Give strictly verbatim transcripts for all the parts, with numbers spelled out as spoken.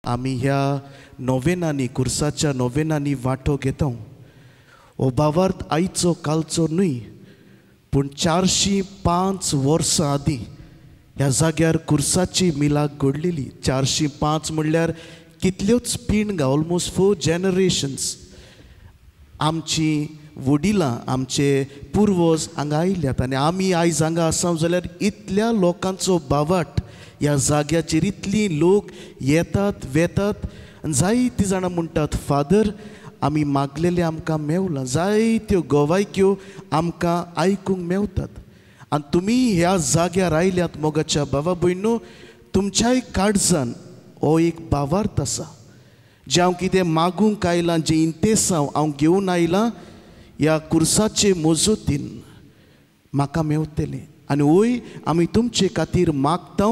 आमी ह्या नोवेनांनी कुर्साच्या नोवेनांनी वांटो घेता. हो भावार्थ आयचो कालचो न्हय, पूण चारशीं पांच वर्सां आदीं ह्या जाग्यार कुर्साची मिलाक घडलेली. चारशीं पांच म्हणल्यार कितल्योच पिणगां, ऑलमोस्ट फोर जनरेशन्स आमची वडिलां आमचे पुर्वज हांगा आयल्यात आनी आमी आयज हांगा आसा जाल्यार इतल्या लोकांचो बावाट ह्या जाग्याचेर, इतलीं लोक येतात वेतात आनी जायतीं जाणां म्हणटात फादर आमी मागलेलें आमकां मेवलां. जायत्यो गोवायक्यो आमकां आयकूंक मेवतात आनी तुमी ह्या जाग्यार आयल्यात मोगाच्या बाबा भयणू, तुमच्याय काळजान हो एक भावार्थ आसा जें हांव कितें मागूंक आयलां, जें इंतेसांव हांव घेवन आयलां ह्या कुर्साचे मजतीन म्हाका मेवतलें. आनी वय आमी तुमचे खातीर मागता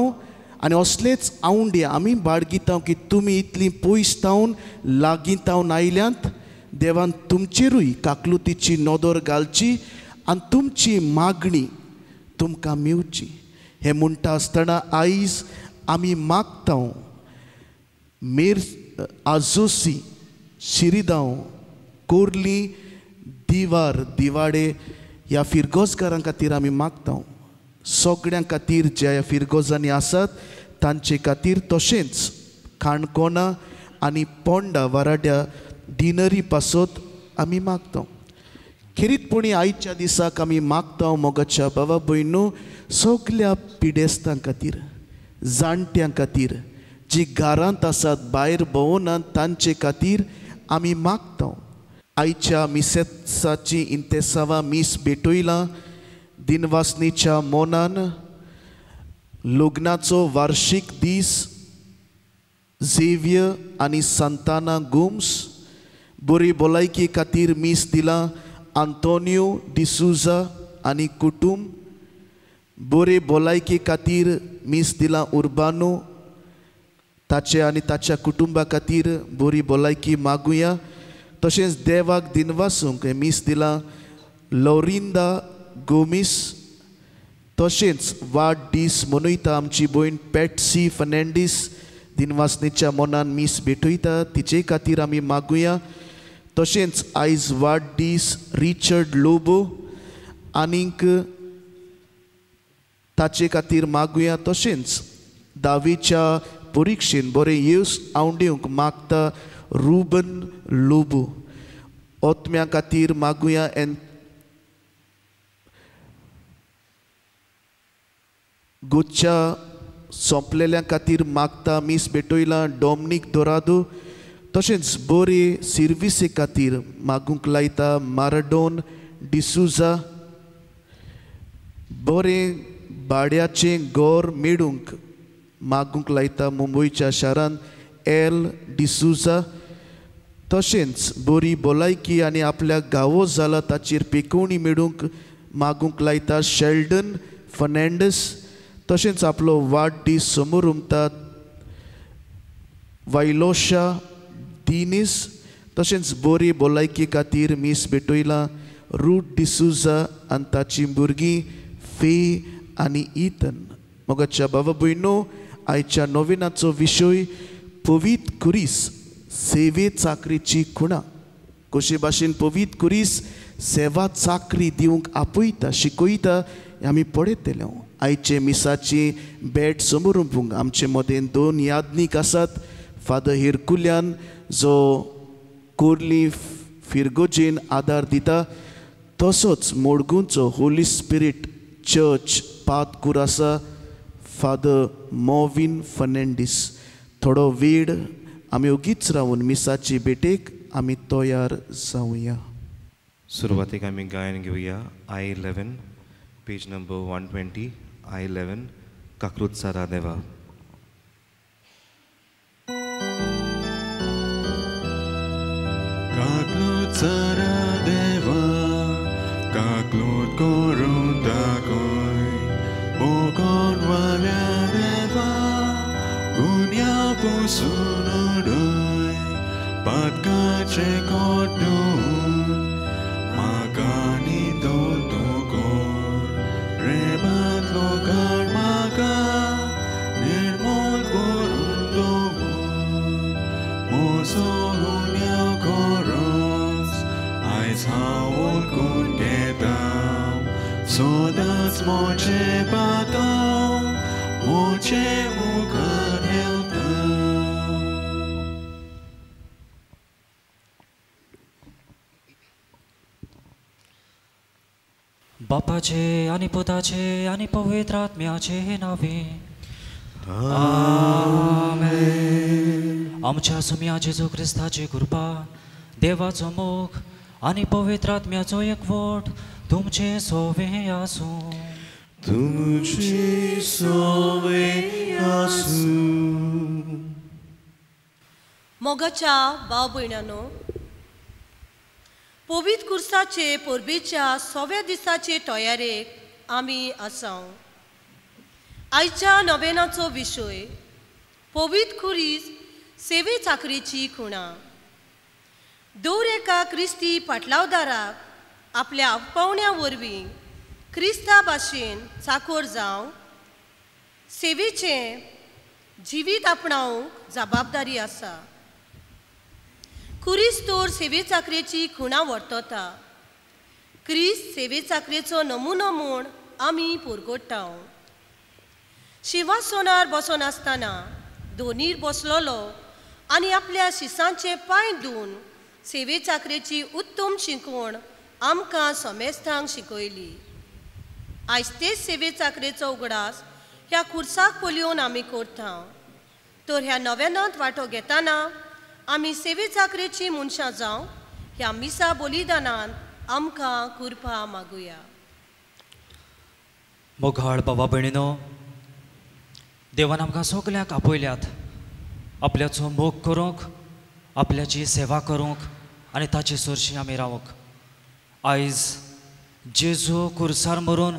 आनी असलेच आवंडे आमी बाळगिता की तुमी इतलीं पयस तावन लागीं तावन आयल्यांत, देवान तुमचेरूय काकलुतीची नदर घालची आनी तुमची मागणी तुमकां मेवची. हें म्हणटा आसतना आयज आमी मागता मेर आजोसी शिरिदांव कोर्ली दिवार दिवाडे ह्या फिरगोजकारां खातीर आमी मागता. सगळ्यां खातीर ज्या ह्या फिरगोजांनी आसात तांचे खातीर, तशेंच काणकोणा आनी पोंडा वाराड्या डिनरी पासत आमी मागता. खेरीतपणी आयच्या दिसाक आमी मागता मोगाच्या बाबा भयणू सगल्या पिडेस्तां खातीर, जाणट्यां खातीर, जी घरांत आसात भायर भोंवनात तांचे खातीर आमी मागता. आयच्या मिसेसाची इंतेसांवां मीस भेटयलां दिनवासनीच्या मोनान लग्नाचो वार्षीक दीस झेवियर आनी सांताना गोम्स, बरी भलायकी खातीर मीस दिलां आंतोनियो डिसूजा आनी कुटूंब, बरे भलायकी खातीर मीस दिलां उर्बानो ताचे आनी ताच्या कुटुंबा खातीर बरी भलायकी मागुया. तशेंच देवाक दिनवासूंक मीस दिलां लोरिंदा गोमीस, तशेंच वाड दीस मनयता आमची भयण पॅटसी फर्नांडीस दिनवासनीच्या मनान मीस भेटयता तिचे खातीर आमी मागुया. तशेंच आयज वाड दीस रिचर्ड लोबो आनीक ताचे खातीर मागुया. तशेंच धावेच्या परिक्षेन बरें येस आवंडेवंक मागता रुबन लोबो, ओतम्या खातीर मागुया एन गोच्या सोंपलेल्या खातीर मागता मीस भेटयलां डॉमनीक दोरादो. तशेंच बरे सिर्विसे खातीर मागूंक लायता माराडोन डिसूजा, बरें भाड्याचें घर मेळूंक मागूंक लायता मुंबयच्या शारांत एल डिसूजा. तशेंच बरी भलायकी आनी आपल्याक गावो जाला ताचेर पेकोवणी मेळूंक मागूंक लायता शेल्डन फर्नांडीस. तशेंच आपलो वाडदीस समोर उमतात वायलोशा दिनीस. तशेंच बरी भलायकी खातीर मीस भेटयलां रूट डिसूजा आनी ताची भुरगीं फे आनी इथन. मोगाच्या बाबा भयणो, आयच्या नोवेनाचो विशय पवीत कुरीस सेवे चाकरीची खुणा. कशे भाशेन पवीत कुरीस सेवा चाकरी दिवंक आपयता शिकयता आमी पळयतले. आयचे मिसाची भेट समोर आमचे मदें दोन यादनीक आसात, फादर हिरकुल्यान जो कोर्ली फिरगोजेन आदार दिता, तसोच मोडगुंचो होली स्पिरीट चर्च पातकूर आसा फादर मोविन फर्नांडीस. थोडो वेळ आमी ओगीच रावन मिसाची भेटेक आमी तयार जावया. सुरवातेक आमी गायन घेवया I eleven page number one twenty, I eleven काकृत सारा देवा. काकलूत सारा देवा काकलूत करून दाखय मोगोन वाल्या देवा गुन्या पसून उडय पातकाचे कोटून म्हाका नितळ तूं कर प्रेमांतलो काड म्हाका निर्मोल करून दवर. म्हजो गुन्यांव खरोच आयज हांव वळखून घेता सदांच म्हजें पातक म्हजे मुखार हेवता. बापाचे आनी पुताचे आनी पवित्र आत्म्याचे नांवे आमेन. आमच्या सुम्या जेजू क्रिस्ताची कृपा, देवाचो मोग आनी पवित्र आत्म्याचो एकवट तुमचे सोवे आसूं. तुमचे सोवे आसूं. मोगाच्या भाव भयणांनो, पवित्र कुर्साचे परबेच्या सव्या दिसाचे तयारेक आमी आसाव. आयच्या नवेनाचो विशय पवित्र खुरीस सेवे चाकरेची खुणा. दर एका क्रिस्ती पाटलावदाराक आपल्या पावण्या वरवीं क्रिस्ता भाशेन चाकोर जावंक सेवेचें जिवीत आपणावंक जबाबदारी आसा. खुरीस तर सेवे चाकरेची खुणा वर्तता. क्रिस्त सेवे चाकरेचो नमुनो म्हूण आमी पुरगोडटा. शिंवासनार बसून आसतना दोनीर बसलोलो आनी आपल्या शिसांचे पांय धुवन सेवे चाकरेची उत्तम शिकवण आमकां समेस्तांक शिकयली. आयज तेच सेवे चाकरेचो उगडास ह्या खुर्साक पळोवन आमी करता. तर ह्या नव्यानांत वांटो घेतना आमी सेवे चाकरेची मनशां जावं ह्या मिसा बलिदानान आमकां कृपा मागुया. मोगाळ बाबा भयणीनो, देवान आमकां सगल्यांक आपयल्यात आपल्याचो मोग करूंक, आपल्याची सेवा करूंक आनी ताचे सरशी आमी रावंक. आयज जेजू कुर्सार मरून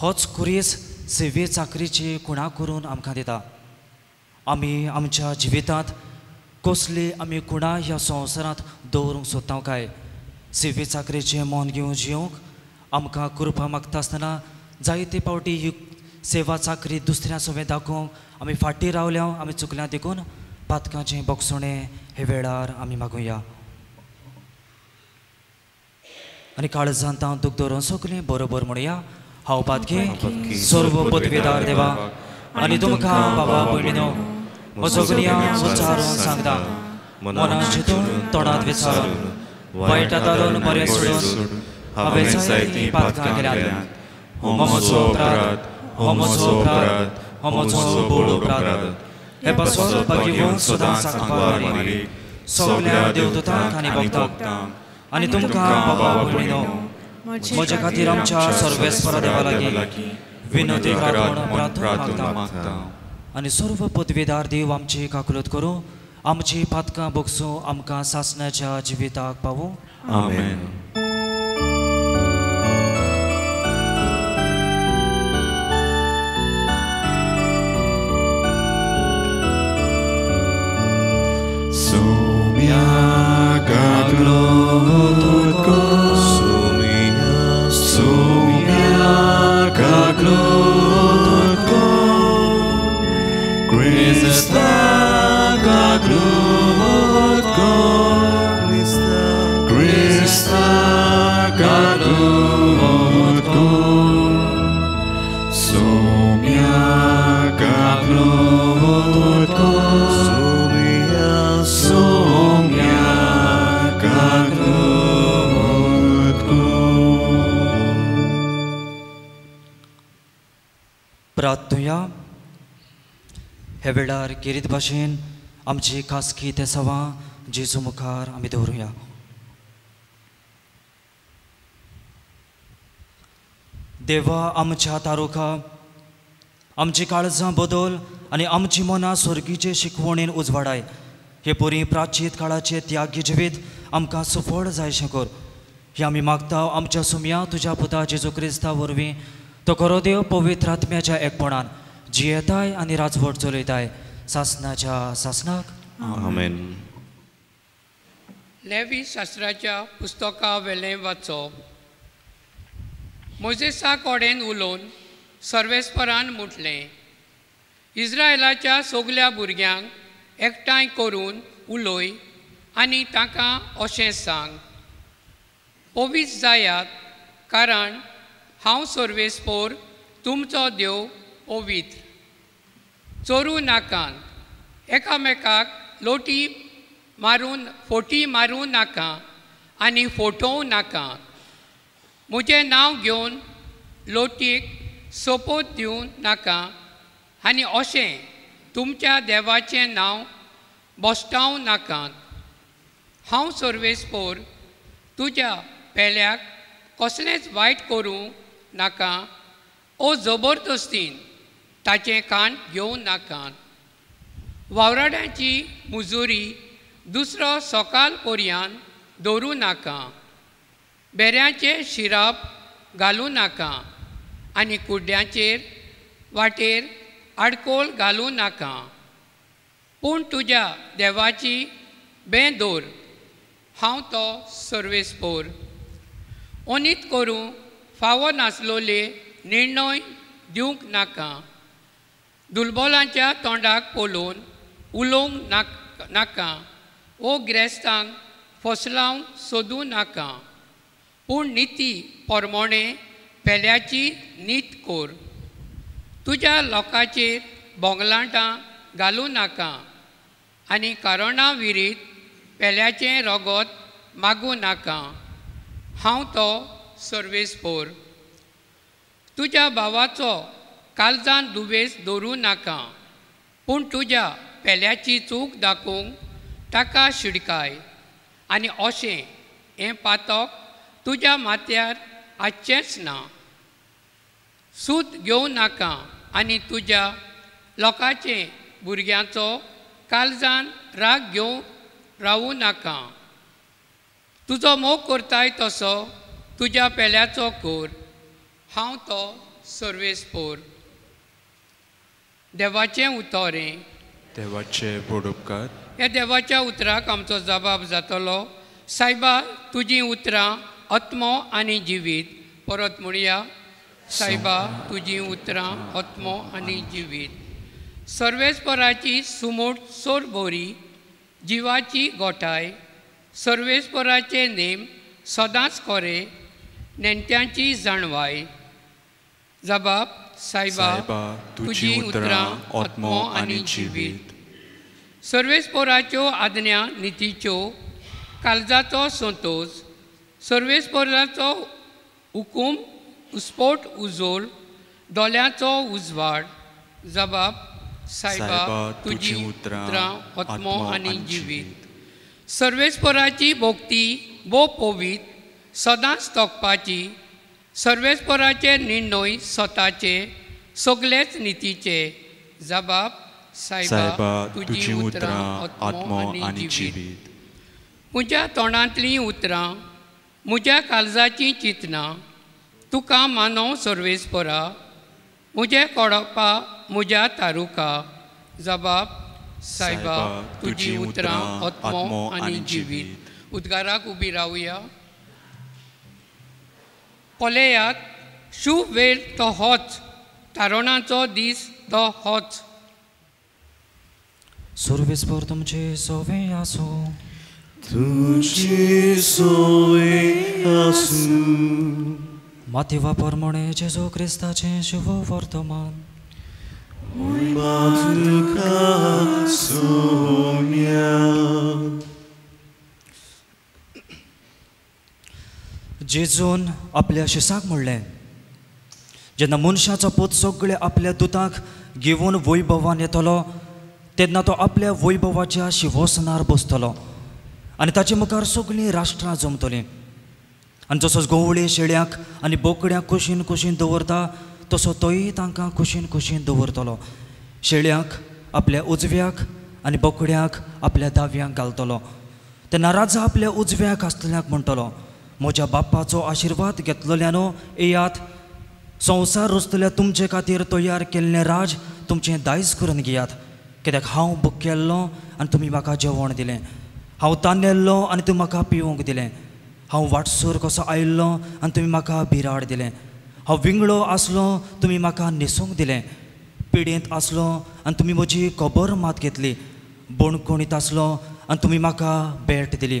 होच खुरीस सेवे चाकरीची खुणा करून आमकां दिता. आमी आमच्या जिवितांत कसली आमी खुणा ह्या संवसारांत दवरूंक सोदता काय? सेवे चाकरेचें मन घेवन जिवंक आमकां कृपा मागता आसतना जायते फावटी ही सेवा चाकरी दुसऱ्या सवें दाखोवंक आमी फाटीं रावल्या, आमी चुकल्या. देखून पातकांचें बोगसणें हे वेळार आमी मागुया आनी काळजांत हांव दूख दवरून सगळें बरोबर म्हणया. हांव पातकी सर्व पदवेदार देवा आनी तुमकां बाबा भयणीनो म्हजो गुन्यांव उच्चारून सांगता. मनान चिंतून तोंडांत विचारून वायट आदारून बरें सोडून हांवें जायतीं पातकां केल्यांत. हो म्हजो अपराध, हो म्हजो अपराध, हो म्हजो बोड अपराध. हे पासत भाग्यवंत सदांच सांगपाक सगल्या देवदूतांक आनी भक्तांक आनी तुमकां बाबा भयणीनो म्हजे खातीर आमच्या सर्वेस्परा देवा लागीं विनंती करात म्हूण प्रार्थना मागता. आनी सर्व पदवेदार देव आमची काकलूत करूं, आमची पातकां बोगसूं, आमकां सासणाच्या जिविताक पावूं. आमेन. Sumia kaklot ko, sumia, sumia kaklot ko, Krista kaklot ko, Krista kaklot ko, sumia kaklot ko, sumia kaklot ko. प्रार्थुया. हे वेळार केरीत भाशेन आमची खासगी तेसावां जेजू मुखार आमी दवरुया. देवा आमच्या तारुखा, आमची काळजां बदल आनी आमची मनां स्वर्गीचे शिकवणेन उजवाडाय. हे परी प्राचीत काळाचे त्यागी जिवीत आमकां सुफळ जायशें कर. हे आमी मागता आमच्या सुमया तुज्या पुता जेजू क्रिस्ता वरवीं. तो खरो देव पवित्र आत्म्याच्या एकपणान जियेताय आनी राजवट चलयताय सासनाच्या सासनाक. आमेन. लेवी शास्त्राच्या पुस्तका वेलें वाचप. मोजेसा कडेन उलोवन सर्वेस्परान म्हटलें, इस्रायलाच्या सगल्या भुरग्यांक एकठांय करून उलय आनी तांकां अशें सांग, पवित्र जायात कारण हांव सर्वेस्पोर तुमचो देव पवित्र. चोरूं नाकात, एकामेकाक लोटी मारून फोटी मारूं नाका आनी फोटोवं नाका. म्हजें नांव घेवन लोटीक सोपोत दिवं नाका आनी अशें तुमच्या देवाचें नांव बोस्टावं नाकात. हांव सर्वेस्पोर तुज्या पेल्याक कसलेंच वायट करूं नाका ओ जबरदस्तीन ताचें कान घेवं नाकात. वावराड्यांची मुजुरी दुसरो सकाळ पर्यान दवरूं नाका. बेऱ्यांचें शिराप घालूं नाका आनी कुड्ड्यांचेर वाटेर आडकोळ घालूं नाका. पूण तुज्या देवाची बें दवर. हांव तो सर्वेस्पोर. ओनीत करूं फावो नासलोले निर्णय दिवंक नाका. दुर्बलांच्या तोंडाक पळोवन उलोवंक नाका ओ गिरेस्तांक फसलावंक सोदूं नाका. पूण निती परमोणें पेल्याची नीत कोर. तुज्या लोकांचेर बोंगलाटां घालूं नाका आनी कारणां विरीत पेल्याचें रगत मागूं नाका. हांव तो सर्वेस्पोर. तुज्या भावाचो काळजान दुवेस दवरूं नाका, पूण तुज्या पेल्याची चूक दाखोवंक ताका शिडकाय आनी अशें हें पातक तुज्या माथ्यार आसचेंच ना. सूत घेवं नाका आनी तुज्या लोकांचे भुरग्यांचो काळजान राग घेवन रावूं नाका. तुजो मोग करताय तसो तुज्या पेल्याचो कोर. हांव तो सर्वेस्पोर. देवाचें उतरें. देवाचे बोडुपकार. ह्या देवाच्या उतराक आमचो जबाब जातलो. सायबा तुजीं उतरां आत्मो आनी जिवीत. परत म्हणया, सायबा तुजीं उतरां आत्मो आनी जिवीत. सर्वेस्पराची सुमोट सोर बोरी जिवाची गोठाय. सर्वेस्पराचे नेम सदांच कोरे नेणट्यांची जाणवाय. जबाब, सायबा तुजीं उतरां आत्मो आनी जिवीत. सर्वेस्पोराच्यो आज्ञा नितीच्यो काळजाचो संतोश. सर्वेस्पोराचो हुकूम उस्पोट उजोल दोळ्यांचो उजवाड. जबाब, सायबा तुजीं उतरां आत्मो आनी जिवीत. सर्वेस्पोराची भोक्ती भोव पवित्र सदांच तोखपाची. सर्वेस्पोराचे निर्णय स्वताचे सगळेच नितीचे. जबाब, सायबा तुजीं उतरां आत्मो आनी जिवीत. म्हज्या तोंडांतलीं उतरां म्हज्या काळजाचीं चिंतनां तुका मानव सर्वेस्पोरा. म्हजें कोडपा म्हज्या तारुका. जबाब, सायबा तुजीं उतरां आत्मो आनी जिवीत. उद्गाराक उबी रावया. पळयात शुभ वेळ तो होच, तारणाचो दीस तो होच. सर्वेस्पोर तुमचे सोवे आसूं. तुझे सोवे आसूं. मातेवा परमणे जेजू क्रिस्ताचें शुभ वर्तमान. तुका सोम्या. जेजून आपल्या शिसाक म्हणलें, जेन्ना मनशाचो पूत सगळे आपल्या दुतांक घेवन वैभवान येतलो तेन्ना तो आपल्या वैभवाच्या शिवोसनार बसतलो आनी ताचे मुखार सगळीं राष्ट्रां जमतलीं. आनी जसो गवळे शेळ्यांक आनी बोकड्यांक कुशीन कुशीन दवरता तसो तोय तांकां कुशीन कुशीन दवरतलो. शेळ्यांक आपल्या उजव्याक आनी बोकड्यांक आपल्या दाव्यांक घालतलो. तेन्ना राजा आपल्या उजव्याक आसतल्यांक म्हणटलो, म्हज्या बापाचो आशिर्वाद घेतलेल्यानो येयात, संवसार रचतल्या तुमचे खातीर तयार केल्लें राज तुमचें दायज करून घेयात. कित्याक हांव भुकेल्लो आनी तुमी म्हाका जेवण दिलें, हांव तानेल्लो आनी तुमी म्हाका पिवंक दिलें, हांव वाटसूर कसो आयिल्लो आनी तुमी म्हाका बिराड दिलें, हांव विंगळो आसलो तुमी म्हाका न्हेसूंक दिलें, पिडेंत आसलो आनी तुमी म्हजी खबर मात घेतली, बणकोणीत आसलो आनी तुमी म्हाका भेट दिली.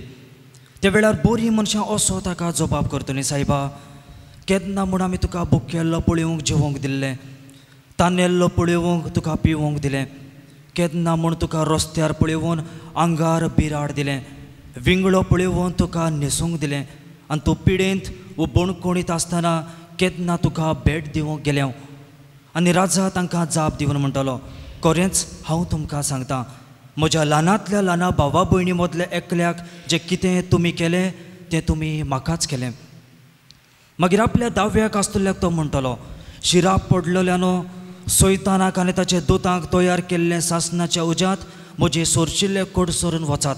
त्या वेळार बरीं मनशां असो ताका जबाब करतलीं, सायबा केन्ना म्हूण आमी तुका भुकेल्लो पळोवंक जेवंक दिल्लें, तानेल्लो पळोवंक तुका पिवंक दिलें, केन्ना म्हूण तुका रस्त्यार पळोवन आंगार बिराड दिलें, विंगळो पळोवन तुका न्हेसूंक दिलें आनी तूं पिडेंत वो बणकोणीत आसतना केन्ना तुका भेट दिवंक गेलें. आनी राजा तांकां जाप दिवन म्हणटलो, खरेंच हांव तुमकां सांगता, म्हज्या ल्हानांतल्या ल्हाना भावा भयणी मदल्या एकल्याक जें कितें तुमी केलें तें तुमी म्हाकाच केलें. मागीर आपल्या दाव्याक आसतल्याक तो म्हणटलो, शिराप पडलेल्यानो सैतानाक आनी ताच्या दुतांक तयार केल्लें सासणाच्या उज्यांत म्हजे सोरशिल्ले कडसरून वचात,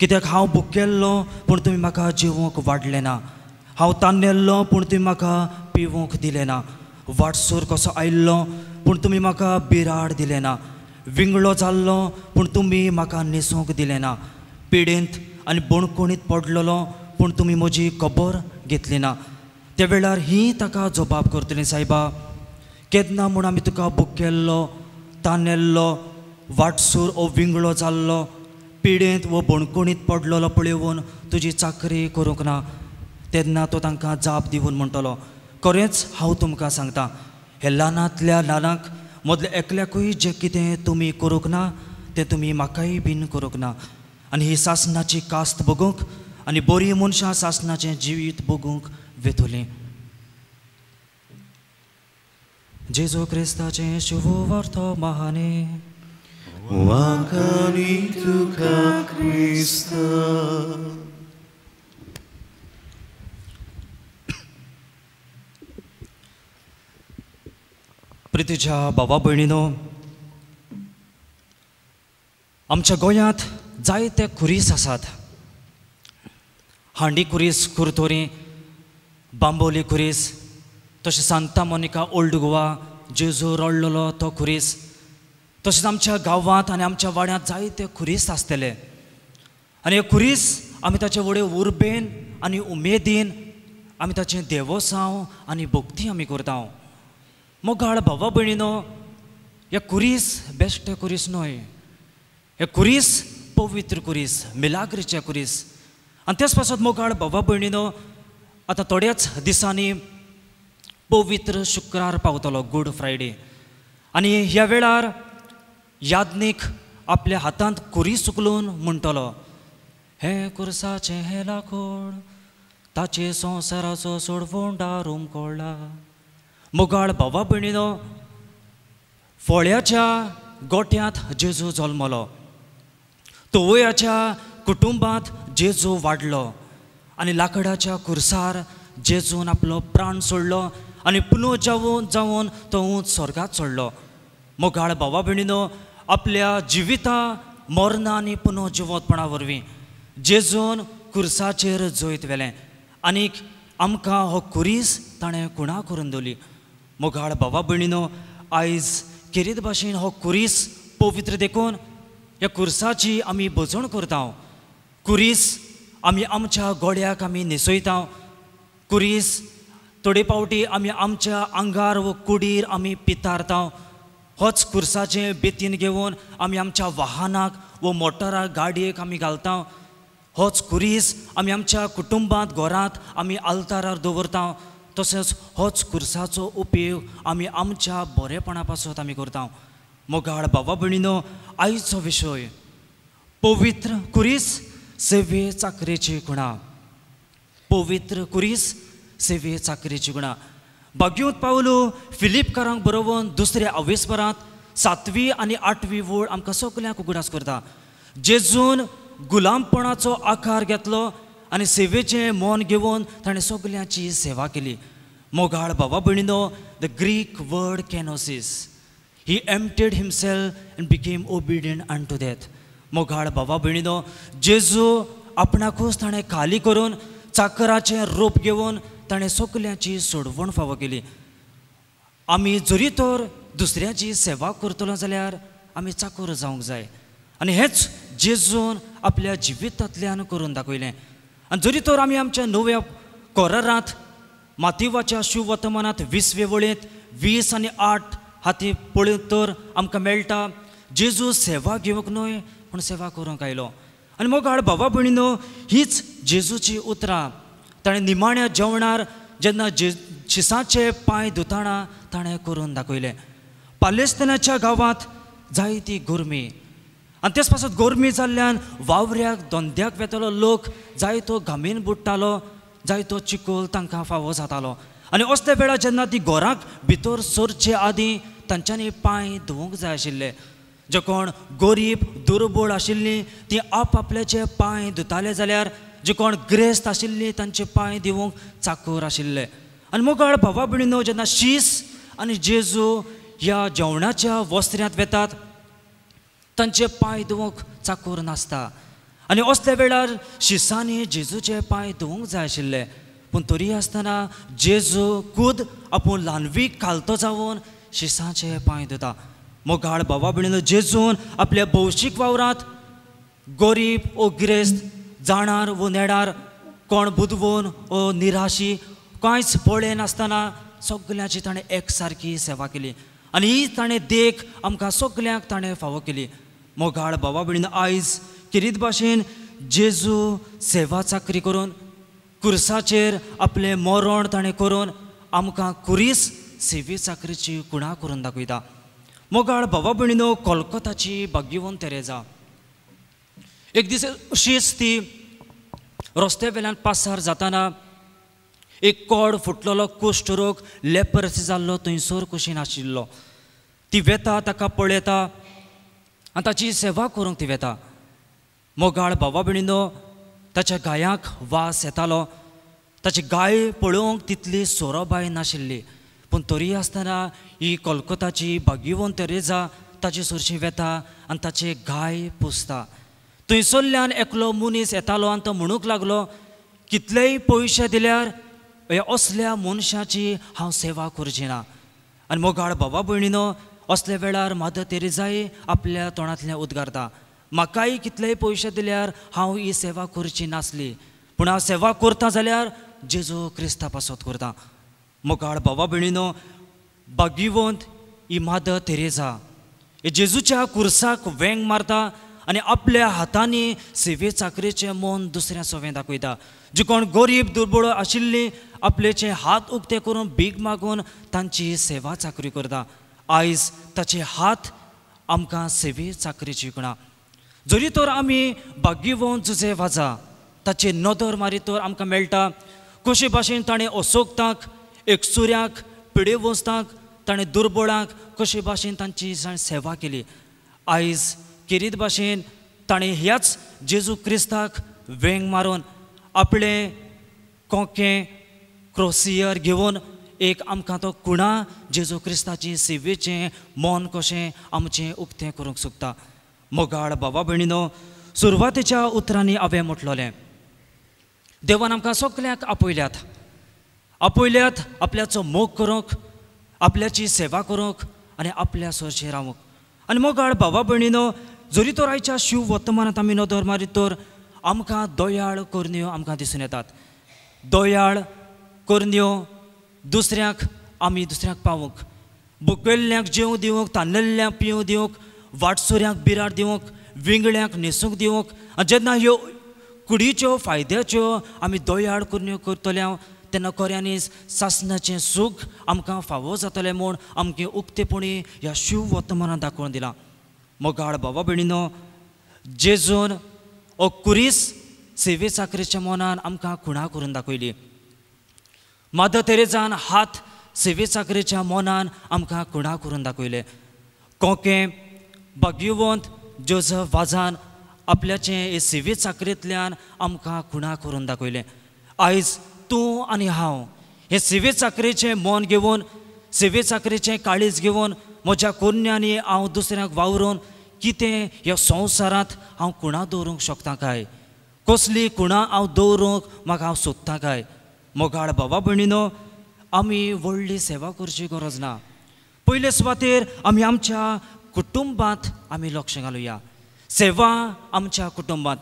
कित्याक हांव भुकेल्लो पूण तुमी म्हाका जेवंक वाडलें ना, हांव तानेल्लो पूण तुमी म्हाका पिवंक दिलें ना, वाटसूर कसो आयिल्लो पूण तुमी म्हाका बिराड दिलें ना, विंगळो जाल्लो पूण तुमी म्हाका न्हेसूंक दिलें ना, पिडेंत आनी बणकोणीत पडलेलो पूण तुमी म्हजी खबर घेतली ना. त्या वेळार ही ताका जबाब करतली, सायबा केन्ना म्हूण आमी तुका भुकेल्लो, तानेल्लो, वाटसूर ओ विंगळो जाल्लो, पिडेंत वो बणकोणीत पडलेलो पळोवन तुजी चाकरी करूंक ना. तेन्ना तो तांकां जाप दिवन म्हणटलो, खरेंच हांव तुमकां सांगता, हे ल्हानांतल्या ल्हानांक मदल्या एकल्याकूय जें कितें तुमी करूंक ना तें तुमी म्हाकाय बीन करूंक ना. आनी ही सासणाची कास्त भोगूंक आनी बरीं मनशां सासणाचें जिवीत भोगूंक वेतलीं. जेजू क्रिस्ताचें शुभवार्तो महाने. वाखाणी तुका क्रिस्ता. प्रितीच्या बाबा भयणीनो, आमच्या गोंयांत जायते खुरीस आसात. हांडी खुरीस कुरतोरी, बांबोली खुरीस, तशें सांता मोनिका ओल्ड गोवा जेजू रडलेलो तो खुरीस, तशेंच आमच्या गांवांत आनी आमच्या वाड्यांत जायते खुरीस आसतले. आनी हे खुरीस आमी ताचे व्हडे उर्बेन आनी उमेदीन आमी ताचें देवोसांव आनी भक्ती आमी करता. मोगाळ भावा भयणीनो, हे खुरीस बेश्टे खुरीस न्हय, हे खुरीस पवित्र खुरीस, मिलाग्रीचे खुरीस. आनी तेच पासत मोगाळ भावा भयणीनो, आतां थोड्याच दिसांनी पवित्र शुक्रार पावतलो, गूड फ्रायडे. आनी ह्या वेळार याज्ञीक आपल्या हातांत खुरीस उखलून म्हणटलो, हें कुर्साचें हें लाकूड ताचे संवसाराचो सोडवण उमकळ्ळा. मोगाळ भावा भयणीनो, फोळ्याच्या गोठ्यांत जेजू जल्मलो, तोवयाच्या कुटुंबांत जेजू वाडलो आनी लाकडाच्या कुर्सार जेजून आपलो प्राण सोडलो आनी पुनो जावन जावन तो उंच स्वर्गात चडलो. मोगाळ भावा भयणीनो, आपल्या जिविता मरणां आनी पुनो जिवोतपणा वरवीं जेजून कुर्साचेर जैत व्हेलें आनीक आमकां हो खुरीस ताणें कुणा करून दवरली. मोगाळ भावा भयणीनो, आयज खेरीत भाशेन हो खुरीस पवित्र देखून ह्या कुर्साची आमी भजण करता. खुरीस आमी आमच्या गोड्याक आमी न्हेसयता. खुरीस थोडे फावटी आमी आमच्या आंगार वो कुडीर आमी पितारता. होच कुर्साचें बेतीन घेवन आमी आमच्या वाहनाक वो मोटराक गाडयेक आमी घालता. होच खुरीस आमी आमच्या कुटुंबांत घरांत आमी आल्तारार दवरता. तशेंच होच कुर्साचो उपयोग आमी आमच्या बरेपणा पासत आमी करता. मोगाळ भावा भयणीनो, आयचो विशय पवित्र खुरीस सेवे चाकरेची गुणां. पवित्र खुरीस सेवे चाकरेची गुणां. भाग्योत पावलो फिलिपकारांक बरोवन दुसऱ्या अवेस्परांत सातवी आनी आठवी वळ आमकां सगल्यांक उगडास करता. जेजून गुलामपणाचो आकार घेतलो आनी सेवेचें मन घेवन ताणें सगल्यांची सेवा केली. मोगाळ भावा भयणीनो, the Greek word kenosis, he emptied himself and became obedient unto death. मोगाळ भावा भयणीनो, जेजू आपणाकूच ताणें खाली करून चाकराचें रूप घेवन ताणें सगल्यांची सोडवण फावो केली. आमी जरी तर दुसऱ्याची सेवा करतलो जाल्यार आमी चाकूर जावंक जाय आनी हेंच जेजून आपल्या जिवितांतल्यान करून दाखयलें. आनी जरी तर आमी आमच्या नव्या कोरारांत मातिवाच्या शुवर्तमानांत वीसवे वळेंत वीस आनी आठ हाती पळयत तर आमकां मेळटा जेजू सेवा घेवंक न्हय पूण सेवा करूंक आयलो. आनी मोगाळ भावा भयणीनो, हीच जेजूची उतरां ताणें निमाण्या जेवणार जेन्ना जे शिसाचे पांय धुताना ताणें करून दाखयलें. पालेस्तिनाच्या गांवांत जायती गरमी आनी तेच पासत गरमी जाल्ल्यान वावऱ्याक धंद्याक वेतलो लोक जायतो घामीन बुडटालो, जायतो चिकोल तांकां फावो जातालो. आनी असल्या वेळार जेन्ना ती घराक भितर सरचे आदीं तांच्यांनी पांय धुवूंक जाय आशिल्ले. जे कोण गरीब दुर्बळ आशिल्लीं ती आप आपल्याचे पांय धुताले जाल्यार जे कोण ग्रेस्त आशिल्लीं तांचे पांय दिवंक चाकूर आशिल्ले. आनी मोगाळ भावा भयणीनो, जेन्ना शीस आनी जेजू ह्या जेवणाच्या वस्त्र्यांत वेतात तांचे पांय धुवंक चाकूर नासता. आनी असल्या वेळार शिसांनी जेजूचे पांय धुवंक जाय आशिल्ले. पूण तरी आसतना जेजू खुद आपूण ल्हानवीक खालतो जावन शिसांचे पांय धुता. मोगाळ भावा भयणीनो, जेजून आपल्या भौशीक वावरांत गरीब ओ गिरेस्त, जाणार वो नेणार, कोण बुदवून ओ निराशी, कांयच पळय नासतना सगल्यांची ताणें एक सारकी सेवा केली. आनी ही ताणें देख आमकां सगल्यांक ताणें फावो केली. मोगाळ भावा भयणीनो, आयज किरीत भाशेन जेजू सेवा चाकरी करून कुर्साचेर आपलें मरण ताणें करून आमकां कुरीस सेवे चाकरीची कुणा करून दाखयता. मोगाळ भावा भयणीनो, कोलकोताची भाग्यवंत तेरेजा एक दीस अशीच ती रस्त्या वेल्यान पासार जाताना एक कोड फुटलेलो कुश्ट रोग लेपर्स जाल्लो थंयसर कुशीन आशिल्लो. ती वेता, ताका पळयता आनी ताची सेवा करूंक ती वेता. मोगाळ भावा भयणीनो, ताच्या गायांक वास येतालो. ताची गाय पळोवंक तितली सोरोबाय नाशिल्ली, पूण तरी आसतना ही कोलकोताची भाग्यवंत तेरेजा ताचे सरशी वेता आनी ताचे गाय पुसता. थंयसरल्यान एकलो मनीस येतालो आनी तो म्हणूंक लागलो, कितलेय पयशे दिल्यार ह्या असल्या मनशाची हांव सेवा करची ना. आनी मोगाळ भावा भयणीनो, असल्या वेळार मादर तेरेजाय आपल्या तोंडांतल्यान उद्गारता, म्हाकाय कितलेय पयशे दिल्यार हांव ही सेवा करची नासली, पूण हांव सेवा करता जाल्यार जेजू क्रिस्ता पासत करता. मोगाळ भावा भयणीनो, भाग्यवंत ही मादर तेरेजा हे जेजूच्या कुर्साक वेंग मारता आनी आपल्या हातांनी सेवे चाकरेचें मन दुसऱ्या सवें दाखयता. जे कोण गरीब दुर्बळ आशिल्लीं आपल्याचे हात उक्ते करून भीक मागून तांची सेवा चाकरी करता. आयज ताचे हात आमकां सेवे चाकरेची कुणा. जरी तर आमी भाग्यवंत जुजे वाजा ताची नदर मारीत तर आमकां मेळटा कशे भाशेन ताणें असोक्तांक, एकसुऱ्यांक, पिडेवस्तांक, ताणें दुर्बळांक कशे भाशेन तांची सेवा केली. आयज केरीत भाशेन ताणें ह्याच जेजू क्रिस्ताक वेंग मारून आपलें कोंकें क्रोसियर घेवन एक आमकां तो कुणा जेजू क्रिस्ताची सेवेचें मन कशें आमचें उक्तें करूंक सोदता. मोगाळ भावा भयणीनो, सुरवातेच्या उतरांनी हांवें म्हटलोलें, देवान आमकां सगल्यांक आपयल्यात, आपयल्यात आपल्याचो मोग करूंक, आपल्याची सेवा करूंक आनी आपल्या सरशें रावूंक. आनी मोगाळ भावा भयणीनो, जरी तर आयच्या शिव वर्तमानांत आमी नदर मारीत तर आमकां दयाळ करण्यो आमकां दिसून येतात. दयाळ करण्यो दुसऱ्यांक आमी दुसऱ्यांक पावूंक, बुकयल्ल्यांक जेवंक दिवंक, तानेल्ल्यांक पिवंक दिवंक, वाटसुऱ्यांक बिराड दिवंक, विंगळ्यांक न्हेसूंक दिवंक. आनी जेन्ना ह्यो कुडीच्यो फायद्याच्यो आमी दयाळ करण्यो करतले तेन्ना खऱ्यांनीच सासणाचें सूख आमकां फावो जातलें म्हूण आमचें उक्तेपणी ह्या शिव वर्तमानान दाखोवन दिलां. मोगाळ भावा भयणीनो, जेजून ओ कुरीस सेवे चाकरेच्या मनान आमकां खुणा करून दाखयली. मादर तेरेजान हात सेवे चाकरेच्या मनान आमकां खुणा करून दाखयले. कोंके भाग्यवंत जोजफ वाजान आपल्याचें हे सेवे चाकरेंतल्यान आमकां खुणा करून दाखयलें. आयज तूं आनी हांव हे सेवे चाकरेचें मन घेवन, सेवे चाकरेचें काळीज घेवन म्हज्या कोन्यांनी हांव दुसऱ्यांक वावरून कितें ह्या संवसारांत हांव खुणा दवरूंक शकता काय, कसली खुणा हांव दवरूंक म्हाका हांव सोदता काय. मोगाळ भावा भयणीनो, आमी व्हडली सेवा करची गरज ना. पयले सुवातेर आमी आमच्या कुटुंबांत आमी लक्ष घालुया, सेवा आमच्या कुटुंबांत.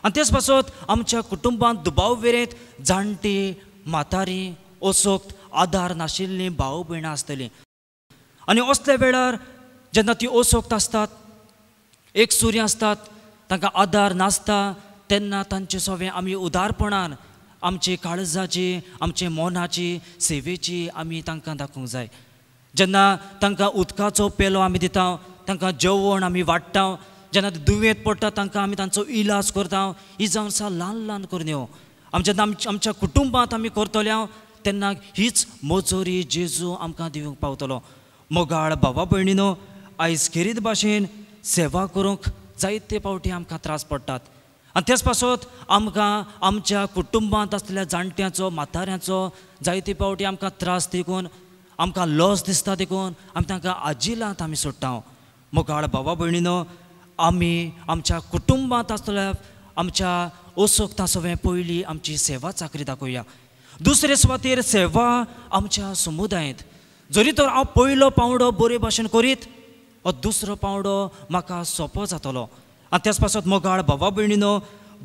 आनी तेच पासत आमच्या कुटुंबांत दुबाव वेरेंत जाणटी, म्हातारी, असोक्त, आदार नाशिल्लीं भाव भयणां आसतलीं. आनी असल्या वेळार जेन्ना ती असोक्त आसतात, एक सुरी आसतात, तांकां आदार नासता तेन्ना तांचे सवें आमी उदारपणान आमचे काळजाची आमचे मनाची सेवेची आमी तांकां दाखोवंक जाय. जेन्ना तांकां उदकाचो पेलो आमी दिता, तांकां जेवण आमी वाडटा, जेन्ना दुयेंत पडटा तांकां आमी तांचो इलाज करता, ही जावन आसा ल्हान ल्हान करण्यो आमच्या जेन्ना आमच्या कुटुंबांत आमी करतले तेन्ना हीच मजोरी जेजू आमकां दिवंक पावतलो. मोगाळ भावा भयणीनो, आयज खेरीत भाशेन सेवा करूंक जायते फावटी आमकां त्रास पडटात आनी तेच पासत आमकां आमच्या कुटुंबांत आसलेल्या जाणट्यांचो म्हाताऱ्यांचो जायते फावटी आमकां त्रास देखून आमकां लॉस दिसता देखून आमी तांकां आजिलांत आमी सोडटा. मोगाळ भावा भयणीनो, आमी आमच्या कुटुंबांत आसलेल्या आमच्या असोक्ता सवें पयलीं आमची सेवा चाकरी दाखोवया. दुसरे सुवातेर सेवा आमच्या समुदायांत जरी तर हांव पयलो पांवडो बरे भाशेन करीत हो दुसरो पांवडो म्हाका सोंपो जातलो. आनी तेच पासत मोगाळ भावा भयणीनो,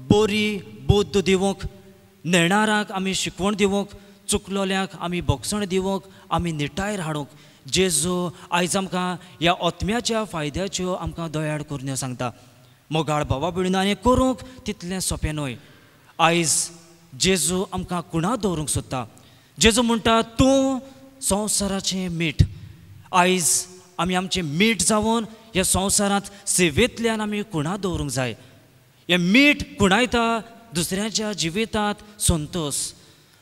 बरी बुद्द दिवंक, नेणारांक आमी शिकवण दिवंक, चुकलोल्यांक आमी भोगसण दिवंक, आमी निटायर हाडूंक जेजू आयज आमकां ह्या आत्म्याच्या फायद्याच्यो आमकां दयाळ करून सांगता. मोगाळ भावा भयणीनो, आनी करूंक तितलें सोंपें न्हय. आयज जेजू आमकां कुणा दवरूंक सोदता. जेजू म्हणटा तूं संवसाराचें मीठ. आयज आमी आमचें मीठ जावन ह्या संवसारांत सेवेंतल्यान आमी कुणा दवरूंक जाय. हें मीठ कुणायता दुसऱ्यांच्या जिवितांत संतोश,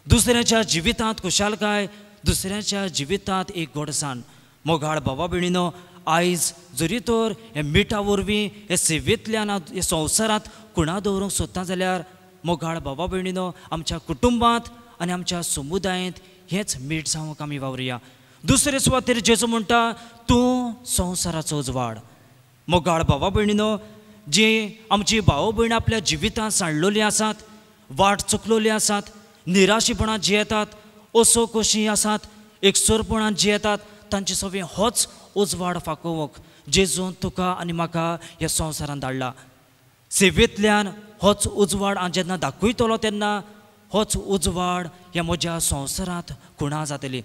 दुसऱ्यांच्या जिवितांत खुशालकाय, दुसऱ्यांच्या जिवितांत एक गोडसाण. मोगाळ भावा भयणीनो, आयज जरी तर हे मिठा वरवीं हे सेवेंतल्यान हे संवसारांत कुणा दवरूंक सोदता जाल्यार मोगाळ भावा भयणीनो, आमच्या कुटुंबांत आनी आमच्या समुदायांत हेंच मीठ जावंक आमी वावरुया. दुसरे सुवातेर जेजू म्हणटा तूं संवसाराचो उजवाड. मोगाळ भावा भयणीनो, जी आमची भाव भयणां आपल्या जिवितांत सांडलेलीं आसात, वाट चुकलेली आसात, निराशेपणांत जियेतात, असो कशीं आसात, एकसुरपणांत जियेतात, तांचे सवें होच उजवाड फाकोवंक जेजून तुका आनी म्हाका ह्या संवसारांत धाडला. सेवेंतल्यान होच उजवाड हांव जेन्ना दाखयतलो तेन्ना होच उजवाड ह्या म्हज्या संवसारांत खुणा जातली.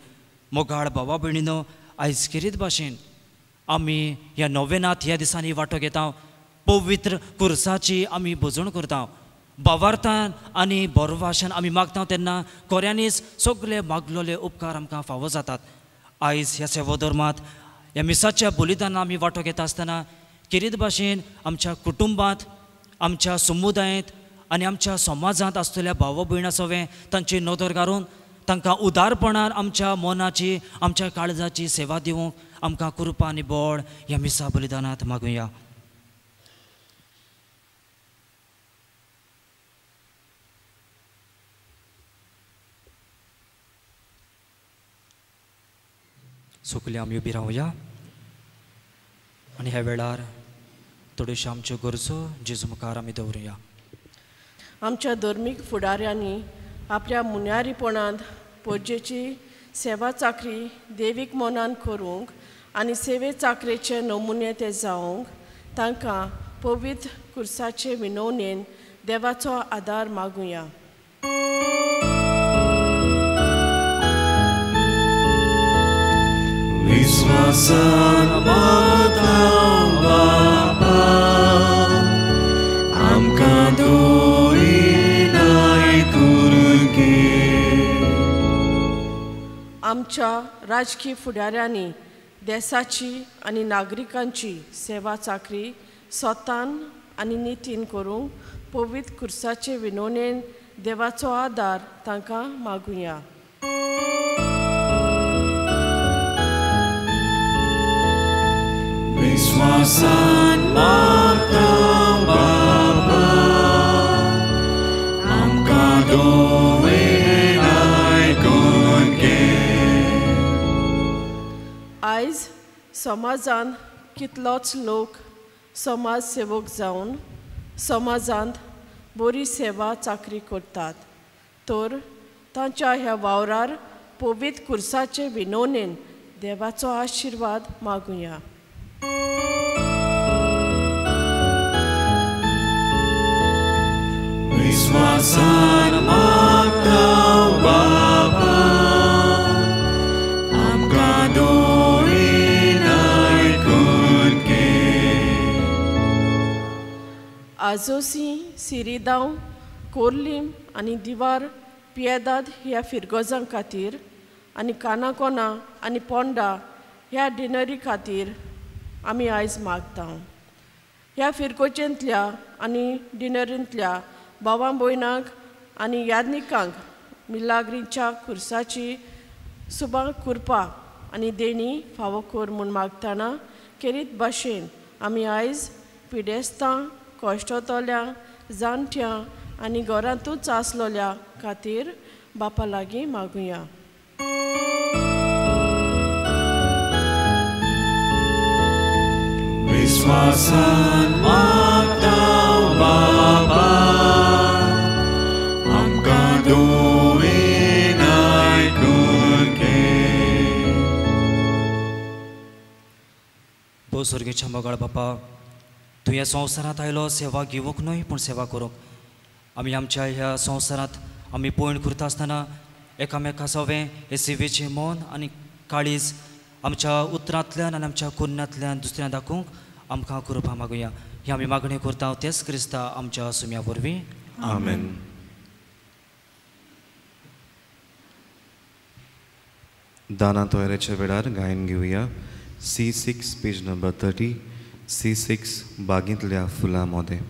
मोगाळ भावा भयणीनो, आयज खेरीत भाशेन आमी ह्या नोवेनात ह्या दिसांनी वांटो घेता, पवित्र कुर्साची आमी भजण करता, भावार्थान आनी बरवाशान आमी मागता तेन्ना खऱ्यांनीच सगळे मागलेले उपकार आमकां फावो जातात. आयज ह्या सेवोधर्मांत ह्या मिसाच्या बलिदानान आमी वांटो घेता आसतना खेरीत भाशेन आमच्या कुटुंबांत, आमच्या समुदायांत आनी आमच्या समाजांत आसतल्या भाव भयणां सवें तांची नदर घालून तांकां उदारपणान आमच्या मनाची आमच्या काळजाची सेवा दिवंक आमकां कृपा आनी बळ ह्या मिसा बलिदानांत मागुया. सगळीं आमी उबी रावया आनी ह्या वेळार थोड्योश्यो आमच्यो गरजो जेजू मुखार आमी दवरुया. आमच्या धर्मीक फुडाऱ्यांनी आपल्या मुन्यारीपणांत पोजेची सेवा चाकरी देवीक मनान करूंक आनी सेवे चाकरेचे नमुने ते जावंक तांकां पवित्र कुर्साचे विनवणेन देवाचो आदार मागुया. विश्वासान मागता बापा आमकां दोरीनाय करून घे. आमच्या राजकीय फुडाऱ्यांनी देशाची आनी नागरिकांची सेवा चाकरी स्वतान आनी नितीन करूंक पवित्र कुर्साचे विनवणेन देवाचो आदार तांकां मागुया. विश्वासान मागता बापा आमकां दोवेनाय करून घे. आयज समाजांत कितलोच लोक समाज सेवक जावन समाजांत बरी सेवा चाकरी करतात तर तांच्या ह्या वावरार पवित्र कुर्साचे विनवणेन देवाचो आशिर्वाद मागुया. विश्वासान मागता बापा आमकां दोरीनाय करून घे. बाजोसी, सिरिदांव, कोर्लीम आनी दिवार पियेदाद ह्या फिरगोजां खातीर आनी कानाकोना आनी पोंडा ह्या डिनरी खातीर आमी आयज मागता. ह्या फिरगोजेंतल्या आनी डिनरींतल्या भावां भयणांक आनी यादनिकांक मिलाग्रीच्या खुर्साची सुबा कुरपा आनी देणी फावो कर म्हूण मागतना केरीत भाशेन आमी आयज पिडेस्तां, कश्टतल्या, जाणट्यां आनी घरांतूच आसलोल्या खातीर बापा लागीं मागुया. विश्वासान मागता बाबा आमकां दोवेन आयकून घे. भोव सर्गेच्या मोगाळ बापा, तूं ह्या संवसारांत आयलो सेवा घेवंक न्हय पूण सेवा करूंक. आमी आमच्या ह्या संवसारांत आमी पयण करता आसतना एकामेका सवें हे सेवेचें मन आनी काळीज आमच्या उतरांतल्यान आनी आमच्या कुन्नांतल्यान दुसऱ्यां दाखोवंक आमकां कृपा मागुया. ही आमी मागणी करता तेच क्रिस्ता आमच्या सुम्या वरवीं. आमेन. दाना तोयऱ्याच्या वेळार गायन घेवया C six page number thirty. C six बागेंतल्या फुलां मोदें.